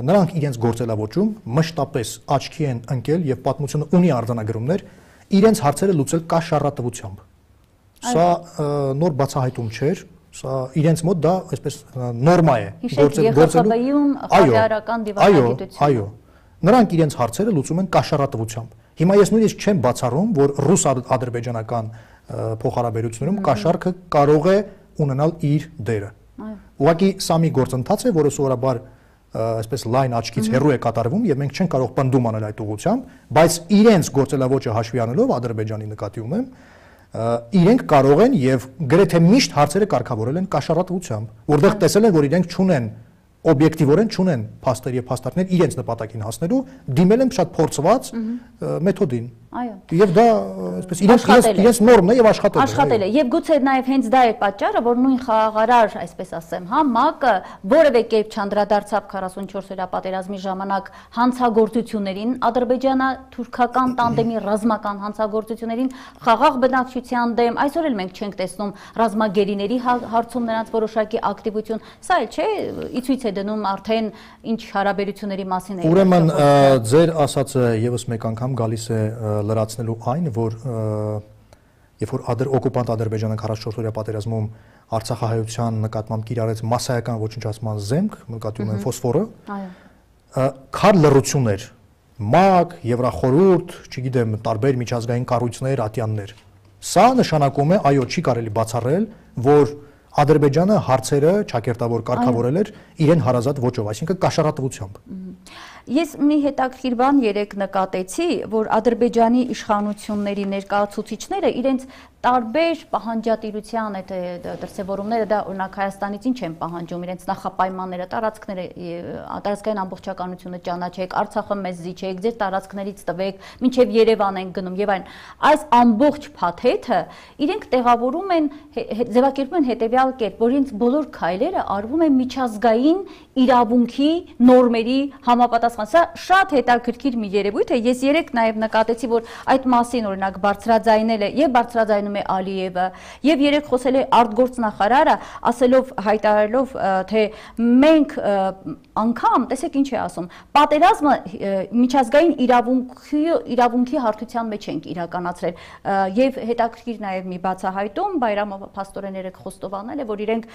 նրանք իրենց գործելավոճում մշտապես աչքի են ընկել եւ պատմությունը ունի արձանագրումներ իրենց հարցերը լուծել կաշառատվությամբ։ Սա նոր բացահայտում չէր, սա իրենց մոտ դա այսպես նորմա է գործելու խաղաղական դիվանագիտություն։ Այո, նրանք իրենց հարցերը լուծում են կաշառատվությամբ։ Հիմա ես նույնիսկ չեմ բացառում, որ ռուս-ադրբեջանական փոխհարաբերություններում կաշառքը կարող է ունենալ իր դերը։ Ուղղակի սա մի գործընթաց է, որը սովորաբար այսպես լայն աչքից հեռու է կատարվում եւ մենք չենք կարող պնդում անել այդ ուղղությամբ, բայց իրենց գործելավոճը հաշվի առնելով Ադրբեջանի նկատի ունեմ, իրենք կարող են եւ գրեթե միշտ հարցերը կարգավորել են կաշառատվությամբ, որտեղ տեսել են, որ իրենք չունեն օբյեկտիվորեն չունեն փաստեր եւ փաստարկներ իրենց նպատակին հասնելու, դիմել են շատ փորձված մեթոդին։ Այո։ Եւ դա, այսպես իրենց իրենց նորմն է եւ աշխատել է։ Աշխատել է։ Եւ գուցե նաեւ հենց դա էր պատճառը, որ նույն խաղաղարար, այսպես ասեմ, հա, ՄԱԿ-ը որևէ կերպ չանդրադարձավ քառասունչորս օրյա պատերազմի ժամանակ հանցագործություններին, ադրբեջանա-թուրքական տանդեմի ռազմական հանցագործություններին, խաղաղ բնակչության դեմ, այսօր էլ մենք չենք տեսնում ռազմագերիների հարցում նրանց որոշակի ակտիվություն։ Սա էլ չէ, ի ցույց է դնում արդեն ինչ հարաբերությունների մասին է։ Ուրեմն ձեր ասածը եւս մեկ անգամ գալիս է լրացնելու այն, որ երբ որ ադր օկուպանտ Ադրբեջանը քառասունչորս օրյա պատերազմում Արցախահայության նկատմամբ կիրառեց մասսայական ոչնչացման զենք, նկատի ունեմ ֆոսֆորը, քար լռություն էր, ՄԱԿ, Եվրախորհուրդ, չգիտեմ, տարբեր միջազգային կառույցներ, ատյաններ։ Սա նշանակում է, այո, չի կարելի բացառել, որ Ադրբեջանը հարցերը ճակերտավոր կարգավորել էր իրեն հարազատ ոճով, այսինքն կաշառատվությամբ։ Ես մի հետաքրքիր բան երեք նկատեցի, որ Ադրբեջանի իշխանությունների ներկայացուցիչները իրենց տարբեր պահանջատիրության այդ դրսևորումները, դա օրինակ Հայաստանից ինչ են պահանջում, իրենց նախապայմանները, տարածքները, տարածքային ամբողջականությունը ճանաչեք, Արցախը մեզ զիջեք, ձեր տարածքներից տվեք, մինչև Երևան են գնում եւ այլն։ Այս ամբողջ փաթեթը իրենք տեղավորում են, ձևակերպում են հետեւյալ կերպ, որ իրենց բոլոր քայլերը արվում են միջազգային իրավունքի նորմերի համապատասխան։ Սա շատ հետաքրքիր մի երևույթ է։ Ես երեք նաև նկատեցի, որ այդ մասին օրինակ բարձրաձայնել է եւ բարձրաձայնում է Ալիևը, եւ երեք խոսել է արտգործնախարարը, ասելով, հայտարարելով, թե մենք անգամ, տեսեք ինչ է ասում, պատերազմը միջազգային իրավունքի իրավունքի հարթության մեջ ենք իրականացրել եւ հետաքրքիր նաև մի բացահայտում Բայրամովը փաստորեն երեք խոստովանել է, որ իրենք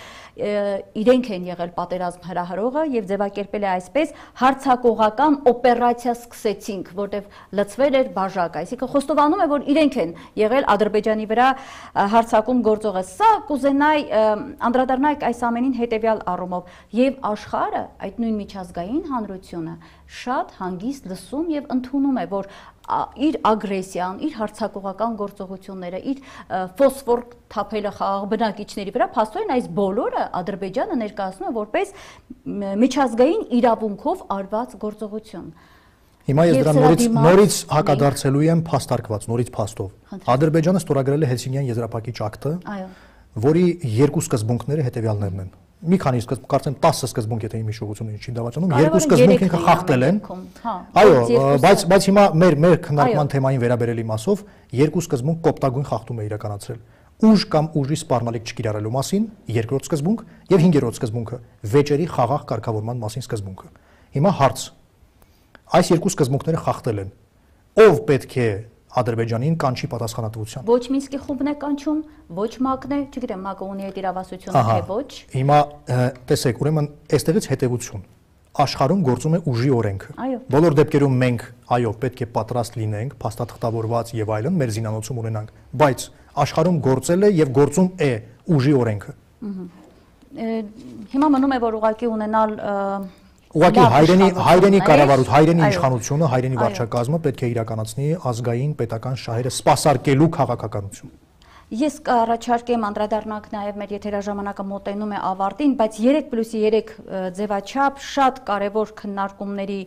իրենք են եղել պատերազմ հրահրողը եւ ձևակերպել է այսպես հարցակողական օպերացիա սկսեցինք, որտեղ լցվել էր բաժակ, այսինքն խոստովանում է, որ իրենք են եղել Ադրբեջանի վրա հարձակում գործողը։ Սա կուզենայի անդրադառնալ այս ամենին հետեւյալ առումով եւ աշխարհը, այդ նույն միջազգային հանրությունը շատ հանգիստ լսում եւ ընդունում է, որ իր ագրեսիան, իր հարձակողական գործողությունները, իր ֆոսֆոր թափելը խաղաղ բնակիչների վրա, փաստորեն այս բոլորը Ադրբեջանը ներկայացնում է որպես միջազգային իրավունքով արված գործողություն։ Հիմա ես դրան նորից նորից հակադարձելու եմ փաստարկված, նորից փաստով։ Ադրբեջանը ստորագրել է Հելսինկիան եզրափակիչ ակտը, որի երկու սկզբունքները հետևյալներն են։ Մի քանի սկզբունք, կարծեմ տասը սկզբունք, եթե իմ հիշողությունը չի դավաճանում, երկու սկզբունք ինքը խախտել են։ Այո, բայց բայց հիմա մեր մեր քննարկման թեմային վերաբերել իմասով երկու սկզբունք կոպտագույն խախտում է իրականացրել։ Ուժ կամ ուժի սպառնալիք չկիրառելու մասին երկրորդ սկզբունք եւ հինգերորդ սկզբունքը վեճերի խաղաղ կարգավորման մասին սկզբունքը։ Հիմա հարց. այս երկու սկզբունքները խախտել են։ Ով պետք է Ադրբեջանին կանչի պատասխանատվության։ Ոչ Մինսկի խումբն է կանչում, ոչ ՄԱԿ-ն է, չգիտեմ, ՄԱԿ-ը ունի այդ իրավասությունը թե ոչ։ Հիմա տեսեք, ուրեմն այստեղից հետևություն։ Աշխարհում գործում է ուժի օրենքը։ Բոլոր դեպքերում մենք, այո, պետք է պատրաստ լինենք, փաստաթղթավորված եւ այլն, մեր զինանոցում ունենանք, բայց աշխարհում գործել է եւ գործում է ուժի օրենքը։ Հիմա մնում է, որ ուղղակի ունենալ Ուղղակի հայրենի հայրենի կառավարություն, հայրենի իշխանությունը, հայրենի վարչակազմը պետք է իրականացնի ազգային պետական շահերը սպասարկելու քաղաքականություն։ Ես կառաջարկեմ անդրադառնանք նաև մեր եթերաժամանակը մոտենում է ավարտին, բայց երեք պլյուս երեք ձևաչափ շատ կարևոր քննարկումների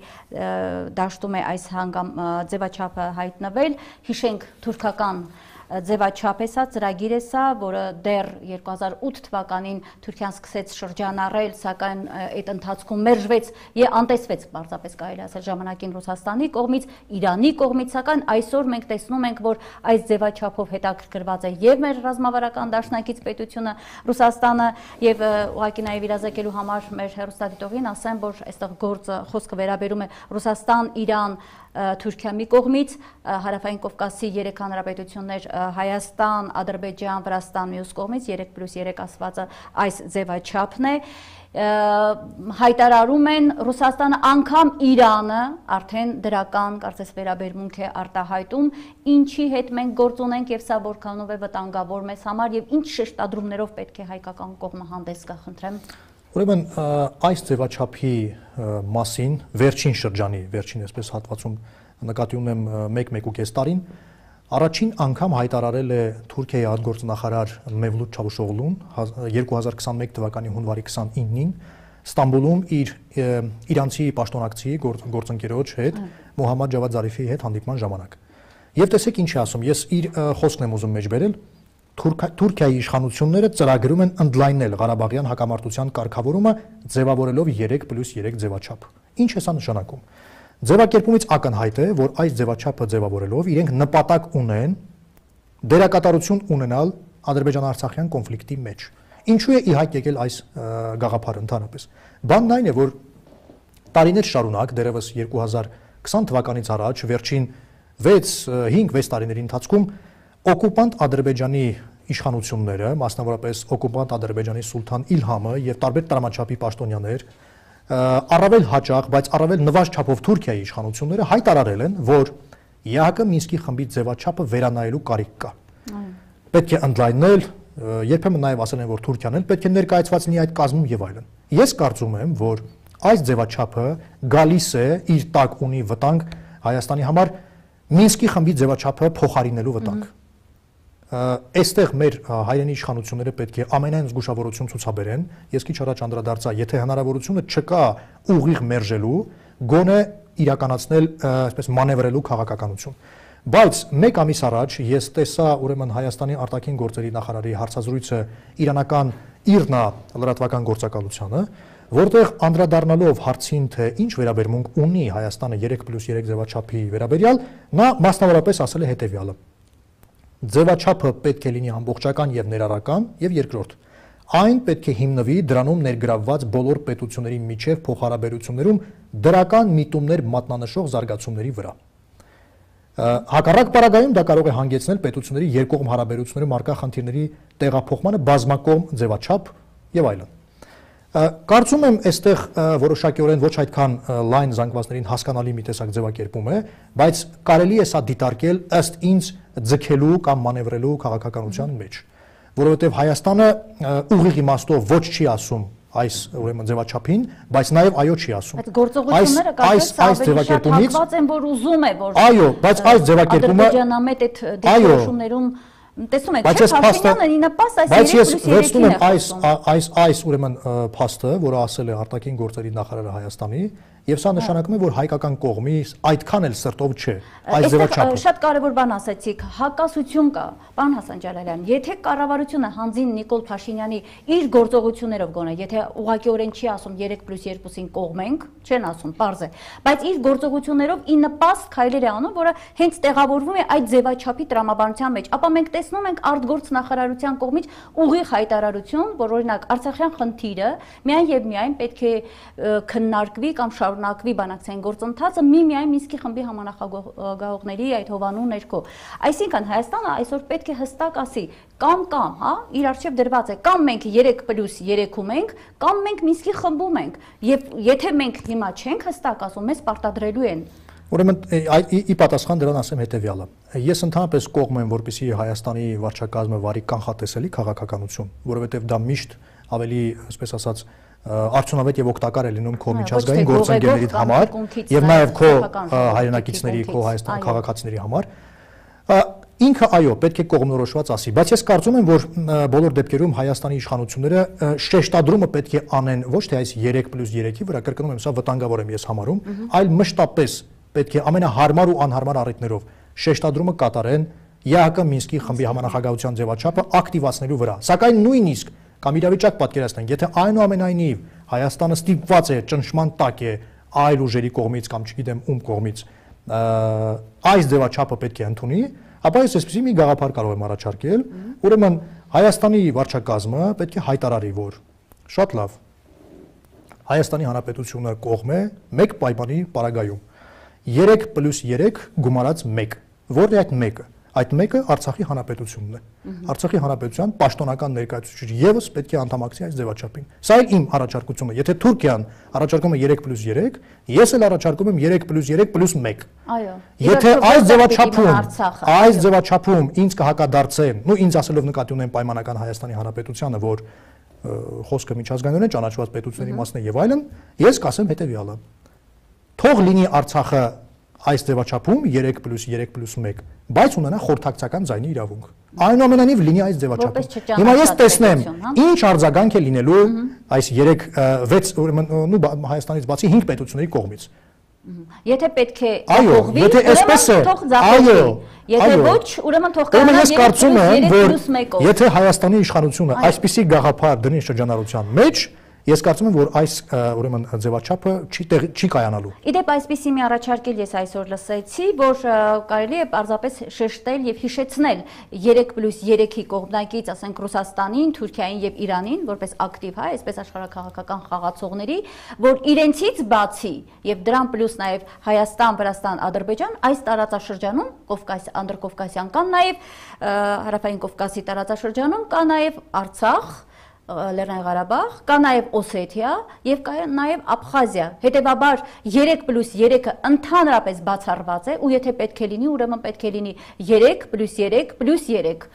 դաշտում է այս հանգամ ձևաչափը հայտնվել։ Հիշենք թուրքական ձևաչափ է սա, ծրագիր է սա, որը դեռ երկու հազար ութ թվականին Թուրքիան սկսեց շրջանառել, սակայն այդ ընթացքում մերժվեց եւ անտեսվեց, պարզապես կարելի ասել ժամանակին Ռուսաստանի կողմից, Իրանի կողմից, սակայն այսօր մենք տեսնում ենք, որ այս ձևաչափով հետաքրքրված է եւ մեր ռազմավարական դաշնակից պետությունը Ռուսաստանը եւ ուղղակի նաեւ իրազեկելու համար մեր հեռուստադիտողին ասեմ, որ այստեղ գործը խոսքը վերաբերում է Ռուսաստան, Իրան, Թուրքիա մի կողմից, Հարավային Կովկասի երեք հանրապետություններ Հայաստան, Ադրբեջան, Վրաստան մյուս կողմից, երեք պլյուս երեք ասվածը այս ձևաչափն է, հայտարարում են Ռուսաստանը, անգամ Իրանը արդեն դրական կարծես վերաբերմունք է արտահայտում, ինչի հետ մենք գործ ունենք եւ սա որքանով է վտանգավոր մեզ համար եւ ինչ շեշտադրումներով պետք է հայկական կողմը հանդես գա, խնդրեմ։ Ուրեմն այս ձևաչափի մասին վերջին շրջանի, վերջին այսպես հատվածում նկատի ունեմ մեկ-մեկ ու կես տարին, առաջին անգամ հայտարարել է Թուրքիայի արտգործնախարար Մևլութ Չավուշօղլուն երկու հազար քսաներկու թվականի հունվարի քսանինին, Ստամբուլում իր իրանցի պաշտոնակցի գործընկերոջ հետ Մոհամմադ Ջավադ Զարիֆի հետ հանդիպման ժամանակ։ Եվ տեսեք ինչ է ասում, ես իր խոսքն եմ ուզում մեջ բերել, Թուրքիայի իշխանությունները ծրագրում են ընդլայնել Ղարաբաղյան հակամարտության կարգավորումը ձևավորելով երեք պլյուս երեք ձևաչափ։ Ինչ է սա նշանակում։ Ձևակերպումից ակնհայտ է, որ այս ձևաչափը ձևավորելով իրենք նպատակ ունեն դերակատարություն ունենալ Ադրբեջան-Արցախյան կոնֆլիկտի մեջ։ Ինչու է ի հայտ եկել այս գաղափարը ընդհանրապես։ Բանն այն է, որ տարիներ շարունակ, դեռևս երկու հազար քսան թվականից առաջ, վերջին վեց հինգ վեց տարիների ընթացքում օկուպանտ Ադրբեջանի իշխանությունները, մասնավորապես օկուպանտ Ադրբեջանի սուլթան Իլհամը եւ տարբեր տրամաչափի պաշտոնյաներ, առավել հաճախ, բայց առավել նվազ չափով Թուրքիայի իշխանությունները հայտարարել են, որ ԵԱՀԿ Մինսկի խմբի ձևաչափը վերանայելու կարիք կա։ Պետք է ընդլայնել, երբեմն նաև ասել են, որ Թուրքիան էլ պետք է ներկայացված լինի այդ կազմում եւ այլն։ Ես կարծում եմ, որ այս ձևաչափը գալիս է իր տակ ունի վտանգ Հայաստանի համար Մինսկի խմբի ձևաչափը փոխարինելու վտանգ։ Այստեղ մեր հայրենի իշխանությունները պետք է ամենայն զգուշավորություն ցուցաբերեն։ Ես քիչ առաջ անդրադարձա, եթե հնարավորությունը չկա ուղիղ մերժելու, գոնե իրականացնել, այսպես մանևրելու քաղաքականություն։ Բայց մեկ ամիս առաջ ես տեսա ուրեմն Հայաստանի արտաքին գործերի նախարարի հարցազրույցը իրանական Իրնա լրատվական գործակալությանը, որտեղ անդրադառնալով հարցին, թե ինչ վերաբերմունք ունի Հայաստանը երեք պլյուս երեք ձևաչափի վերաբերյալ, նա մասնավորապես ասել է հետևյալը. ձևաչափը պետք է լինի ամբողջական եւ ներառական, եւ երկրորդ, այն պետք է հիմնվի դրանում ներգրավված բոլոր պետությունների միջև փոխհարաբերություններում դրական միտումներ մատնանշող զարգացումների վրա։ Հակառակ պարագայում դա կարող է հանգեցնել պետությունների երկկողմ հարաբերություններում առկա խնդիրների տեղափոխմանը բազմակողմ ձևաչափ եւ այլն։ Կարծում եմ, այստեղ որոշակիորեն ոչ այդքան լայն զանգվածներին հասկանալի մի տեսակ ձևակերպում է, բայց կարելի է սա դիտարկել ըստ ինձ ձգելու կամ մանևրելու քաղաքականության մեջ, որովհետեւ Հայաստանը ուղիղ իմաստով ոչ չի ասում այս ուրեմն ձևաչափին, բայց նաև այո չի ասում։ Այդ գործողությունները կարծես ավելի շատ հակված են, որ ուզում է, որ այո, բայց այս ձևակերպումը ադրբեջանամետ այդ դեպքերում տեսնում եք, չէ՞, Փաշինյանը իննապաս այս երեք պլյուս երեքին է խոսում։ Բայց այս այս ուրեմն փաստը, որը ասել է արտաքին գործերի նախարարը Հայաստանի, եւ սա նշանակում է, որ հայկական կողմի այդքան էլ սրտով չէ այս ձևաչափը։ Շատ կարևոր բան ասացիք, հակասություն կա, պարոն Հասան Ջալալյան, եթե կառավարությունը հանձին Նիկոլ Փաշինյանի իր գործողություններով գոնե, եթե ուղղակիորեն չի ասում երեք պլյուս երկուսին կողմենք, չեն ասում, պարզ է, բայց իր գործողություններով ի նպաստ քայլեր է անում, որը հենց տեղավորվում է այդ ձևաչափի տրամաբանության մեջ, ապա մենք տեսնում ենք արտգործ նախարարության կողմից ուղիղ հայտարարություն, որ օրինակ Արցախյան խնդիրը միայն եւ միայն պետք է քննարկվի կամ շարունակվի բանակցային գործընթացը միմիայն Մինսկի խմբի համանախագահողների այդ հովանու ներքո։ Այսինքն Հայաստանը այսօր պետք է հստակ ասի կամ կամ, հա, իր արժեվ դրված է, կամ մենք երեք պլյուս երեքում ենք, կամ մենք Մինսկի խմբում ենք։ Եվ եթե մենք հիմա չենք հստակ ասում, մեզ պարտադրելու են։ Ուրեմն ի պատասխան դրան ասեմ հետևյալը։ Ես ընդհանրապես կողմ եմ, որպեսզի Հայաստանի վարչակազմը վարի կանխատեսելի քաղաքականություն, որովհետև դա միշտ ավելի, այսպես ասած, արդյունավետ եւ օգտակար է լինում քո միջազգային գործընկերների համար եւ նաեւ քո հայրենակիցների, քո Հայաստանի քաղաքացիների համար։ Ինքը այո, պետք է կողմնորոշված ասի, բայց ես կարծում եմ, որ բոլոր դեպքերում Հայաստանի իշխանությունները շեշտադրումը պետք է անեն ոչ թե այս երեք պլյուս երեքի վրա, կրկնում եմ, սա վտանգավոր եմ ես համարում, այլ մշտապես պետք է ամենահարմար ու անհարմար առիթներով շեշտադրումը կատարեն ԵԱՀԿ Մինսկի խմբի համանախագահության ձևաչափը ակտիվացնելու վրա։ Սակայն նույնիսկ կամ իրավիճակ պատկերացնենք, եթե այնուամենայնիվ Հայաստանը ստիպված է ճնշման տակ է այլ ուժերի կողմից կամ չգիտեմ ում կողմից այս ձևաչափը պետք է ընդունի, ապա ես այսպեսի մի գաղափար կարող եմ առաջարկել, ուրեմն Հայաստանի վարչակազմը պետք է հայտարարի, որ շատ լավ Հայաստանի Հանրապետությունը կողմ է մեկ պայմանի պարագայում երեք պլյուս երեք գումարած մեկ, որն է այդ մեկը։ Այդ մեկը Արցախի Հանրապետությունն է։ Արցախի Հանրապետության պաշտոնական ներկայացուցիչ եւս պետք է անդամակցի այս ձևաչափին։ Սա է իմ առաջարկությունը։ Եթե Թուրքիան առաջարկում է երեք պլյուս երեք, ես էլ առաջարկում եմ երեք պլյուս երեք պլյուս մեկ։ Այո։ Եթե այս ձևաչափում, այս ձևաչափում ինձ կհակադարձեն, նու ինձ ասելով նկատի ունեմ պայմանական Հայաստանի Հանրապետությանը, որ խոսքը միջազգայինորեն ճանաչված պետությունների մասն է եւ այլն, ես կասեմ հետեւյալը. թող լինի Արցախը այս ձևաչափում երեք պլյուս երեք պլյուս մեկ, բայց ունենա խորհրդակցական ձայնի իրավունք։ Այնուամենայնիվ լինի այս ձևաչափում։ Հիմա ես տեսնեմ, ինչ արձագանք է լինելու այս երեք վեց ուրեմն նու Հայաստանից բացի հինգ պետությունների կողմից։ Եթե պետք է ապահովվի, եթե այսպես է, այո, եթե ոչ, ուրեմն թող կանա երեք պլյուս մեկով։ Եթե Հայաստանի իշխանությունը այսպիսի գաղափար դնի շրջանառության մեջ, ես կարծում եմ, որ այս ուրեմն ձևաչափը չի չի կայանալու։ Իդեպ այսպիսի մի առաջարկել ես այսօր լսեցի, որ կարելի է պարզապես շեշտել եւ հիշեցնել երեք պլյուս երեքի կողմնակից, ասենք Ռուսաստանին, Թուրքիային եւ Իրանին, որպես ակտիվ հայ, այսպես աշխարհակաղակական խաղացողների, որ իրենցից բացի եւ դրան պլյուս նաեւ Հայաստան, Վրաստան, Ադրբեջան այս տարածաշրջանում Կովկաս, Անդրկովկասյան կան նաեւ Հարավային Կովկասի տարածաշրջանում կա նաեւ Արցախ, Լեռնային Ղարաբաղ, կա նաև Օսեթիա եւ կա նաև Աբխազիա։ Հետևաբար երեք պլյուս երեքը ընդհանրապես բացառված է ու եթե պետք է լինի, ուրեմն պետք է լինի երեք պլյուս երեք պլյուս երեք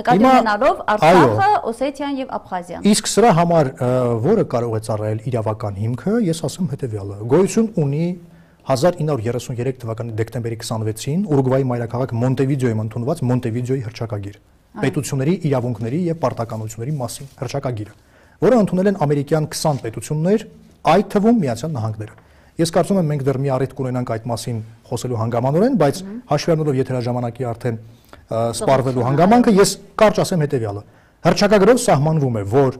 նկատի ունենալով Արցախը, Օսեթիան եւ Աբխազիան։ Իսկ սրա համար որը կարող է ծառայել իրավական հիմքը, ես ասում հետեւյալը։ Գոյություն ունի հազար ինը հարյուր երեսուններեք թվականի դեկտեմբերի քսանվեցին Ուրուգվայի մայրաքաղաք Մոնտեվիդեոյում ընդունված Մոնտեվիդեոյի հռչակագիր պետությունների իրավունքների եւ պարտականությունների մասին հռչակագիրը, որը ընդունել են ամերիկյան քսան պետություններ, այդ թվում Միացյալ Նահանգները։ Ես կարծում եմ մենք դեռ մի առիթ կունենանք այդ մասին խոսելու հանգամանորեն, բայց հաշվի առնելով եթերաժամանակի արդեն սպառվելու հանգամանքը, ես կարճ ասեմ հետեւյալը։ Հռչակագրով սահմանվում է, որ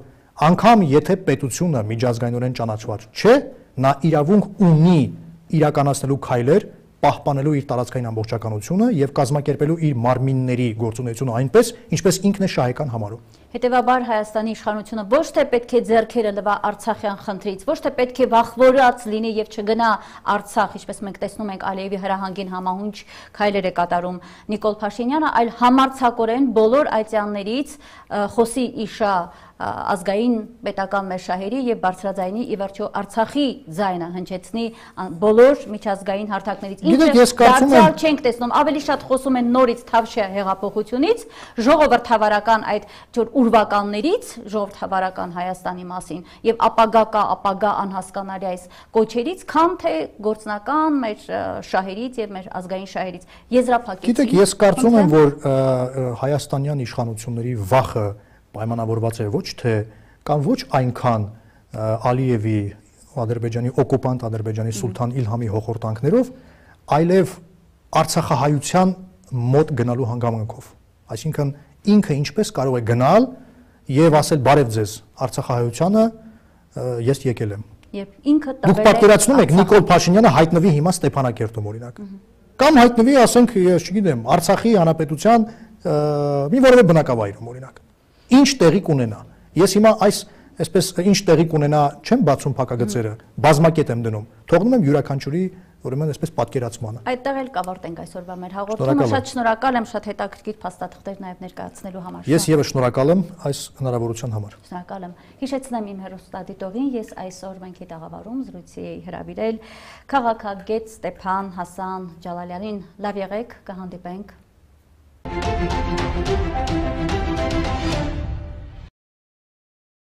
անգամ եթե պետությունը միջազգայինորեն ճանաչված չէ, նա իրավունք ունի իրականացնելու քայլեր պահպանելու իր տարածքային ամբողջականությունը եւ կազմակերպելու իր մարմինների գործունեությունը այնպես, ինչպես ինքն է շահեկան համարում։ Հետևաբար Հայաստանի իշխանությունը ոչ թե պետք է ձեռքերը լվա Արցախյան խնդրից, ոչ թե պետք է վախվորած լինի եւ չգնա Արցախ, ինչպես մենք տեսնում ենք Ալիևի հրահանգին համահունչ քայլեր է կատարում Նիկոլ Փաշինյանը, այլ համարձակորեն բոլոր այցյաններից խոսի իշա ազգային պետական մեր շահերի եւ բարձրաձայնի ի վերջո Արցախի ձայնը հնչեցնի բոլոր միջազգային հարթակներից։ Ինչը դարձյալ չենք տեսնում, ավելի շատ խոսում են նորից Թավշյա հեղափոխությունից, ժողովրդավարական այդ ջոր ուրվականներից, ժողովրդավարական Հայաստանի մասին եւ ապագա կա, ապագա անհասկանալի այս կոչերից, քան թե գործնական մեր շահերից եւ մեր ազգային շահերից եզրափակեցին։ Գիտեք, ես կարծում եմ, որ հայաստանյան իշխանությունների վախը պայմանավորված է ոչ թե կամ ոչ այնքան Ալիևի Ադրբեջանի օկուպանտ Ադրբեջանի սուլթան Իլհամի հոխորտանքներով, այլև Արցախահայության մոտ գնալու հանգամանքով։ Այսինքն ինքը ինչպես կարող է գնալ եւ ասել բարև ձեզ Արցախահայությանը ես եկել եմ։ Երբ ինքը տվել է։ Դուք պատկերացնում եք Նիկոլ Փաշինյանը հայտնվի հիմա Ստեփանակերտում օրինակ։ Կամ հայտնվի, ասենք, ես չգիտեմ, Արցախի հանրապետության մի որևէ բնակավայրում օրինակ։ Ինչ տեղի կունենա։ Ես հիմա այս այսպես ինչ տեղի կունենա չեմ բացում փակագծերը, բազմակետ եմ դնում։ Թողնում եմ յուրաքանչյուրի ուրեմն այսպես պատկերացմանը։ Այդտեղ էլ կավարտենք այսօրվա մեր հաղորդումը։ Շատ շնորհակալ եմ, շատ հետաքրքիր փաստաթղթեր նաև ներկայացնելու համար։ Ես եւս շնորհակալ եմ այս հնարավորության համար։ Շնորհակալ եմ։ Հիշեցնեմ իմ հեռուստադիտողին, ես այսօր մենք հետաղավարում զրույցի էի հրավիրել քաղաքագետ Ստեփան Հասան Ջալալյանին։ Լավ եղեք, կհանդիպենք։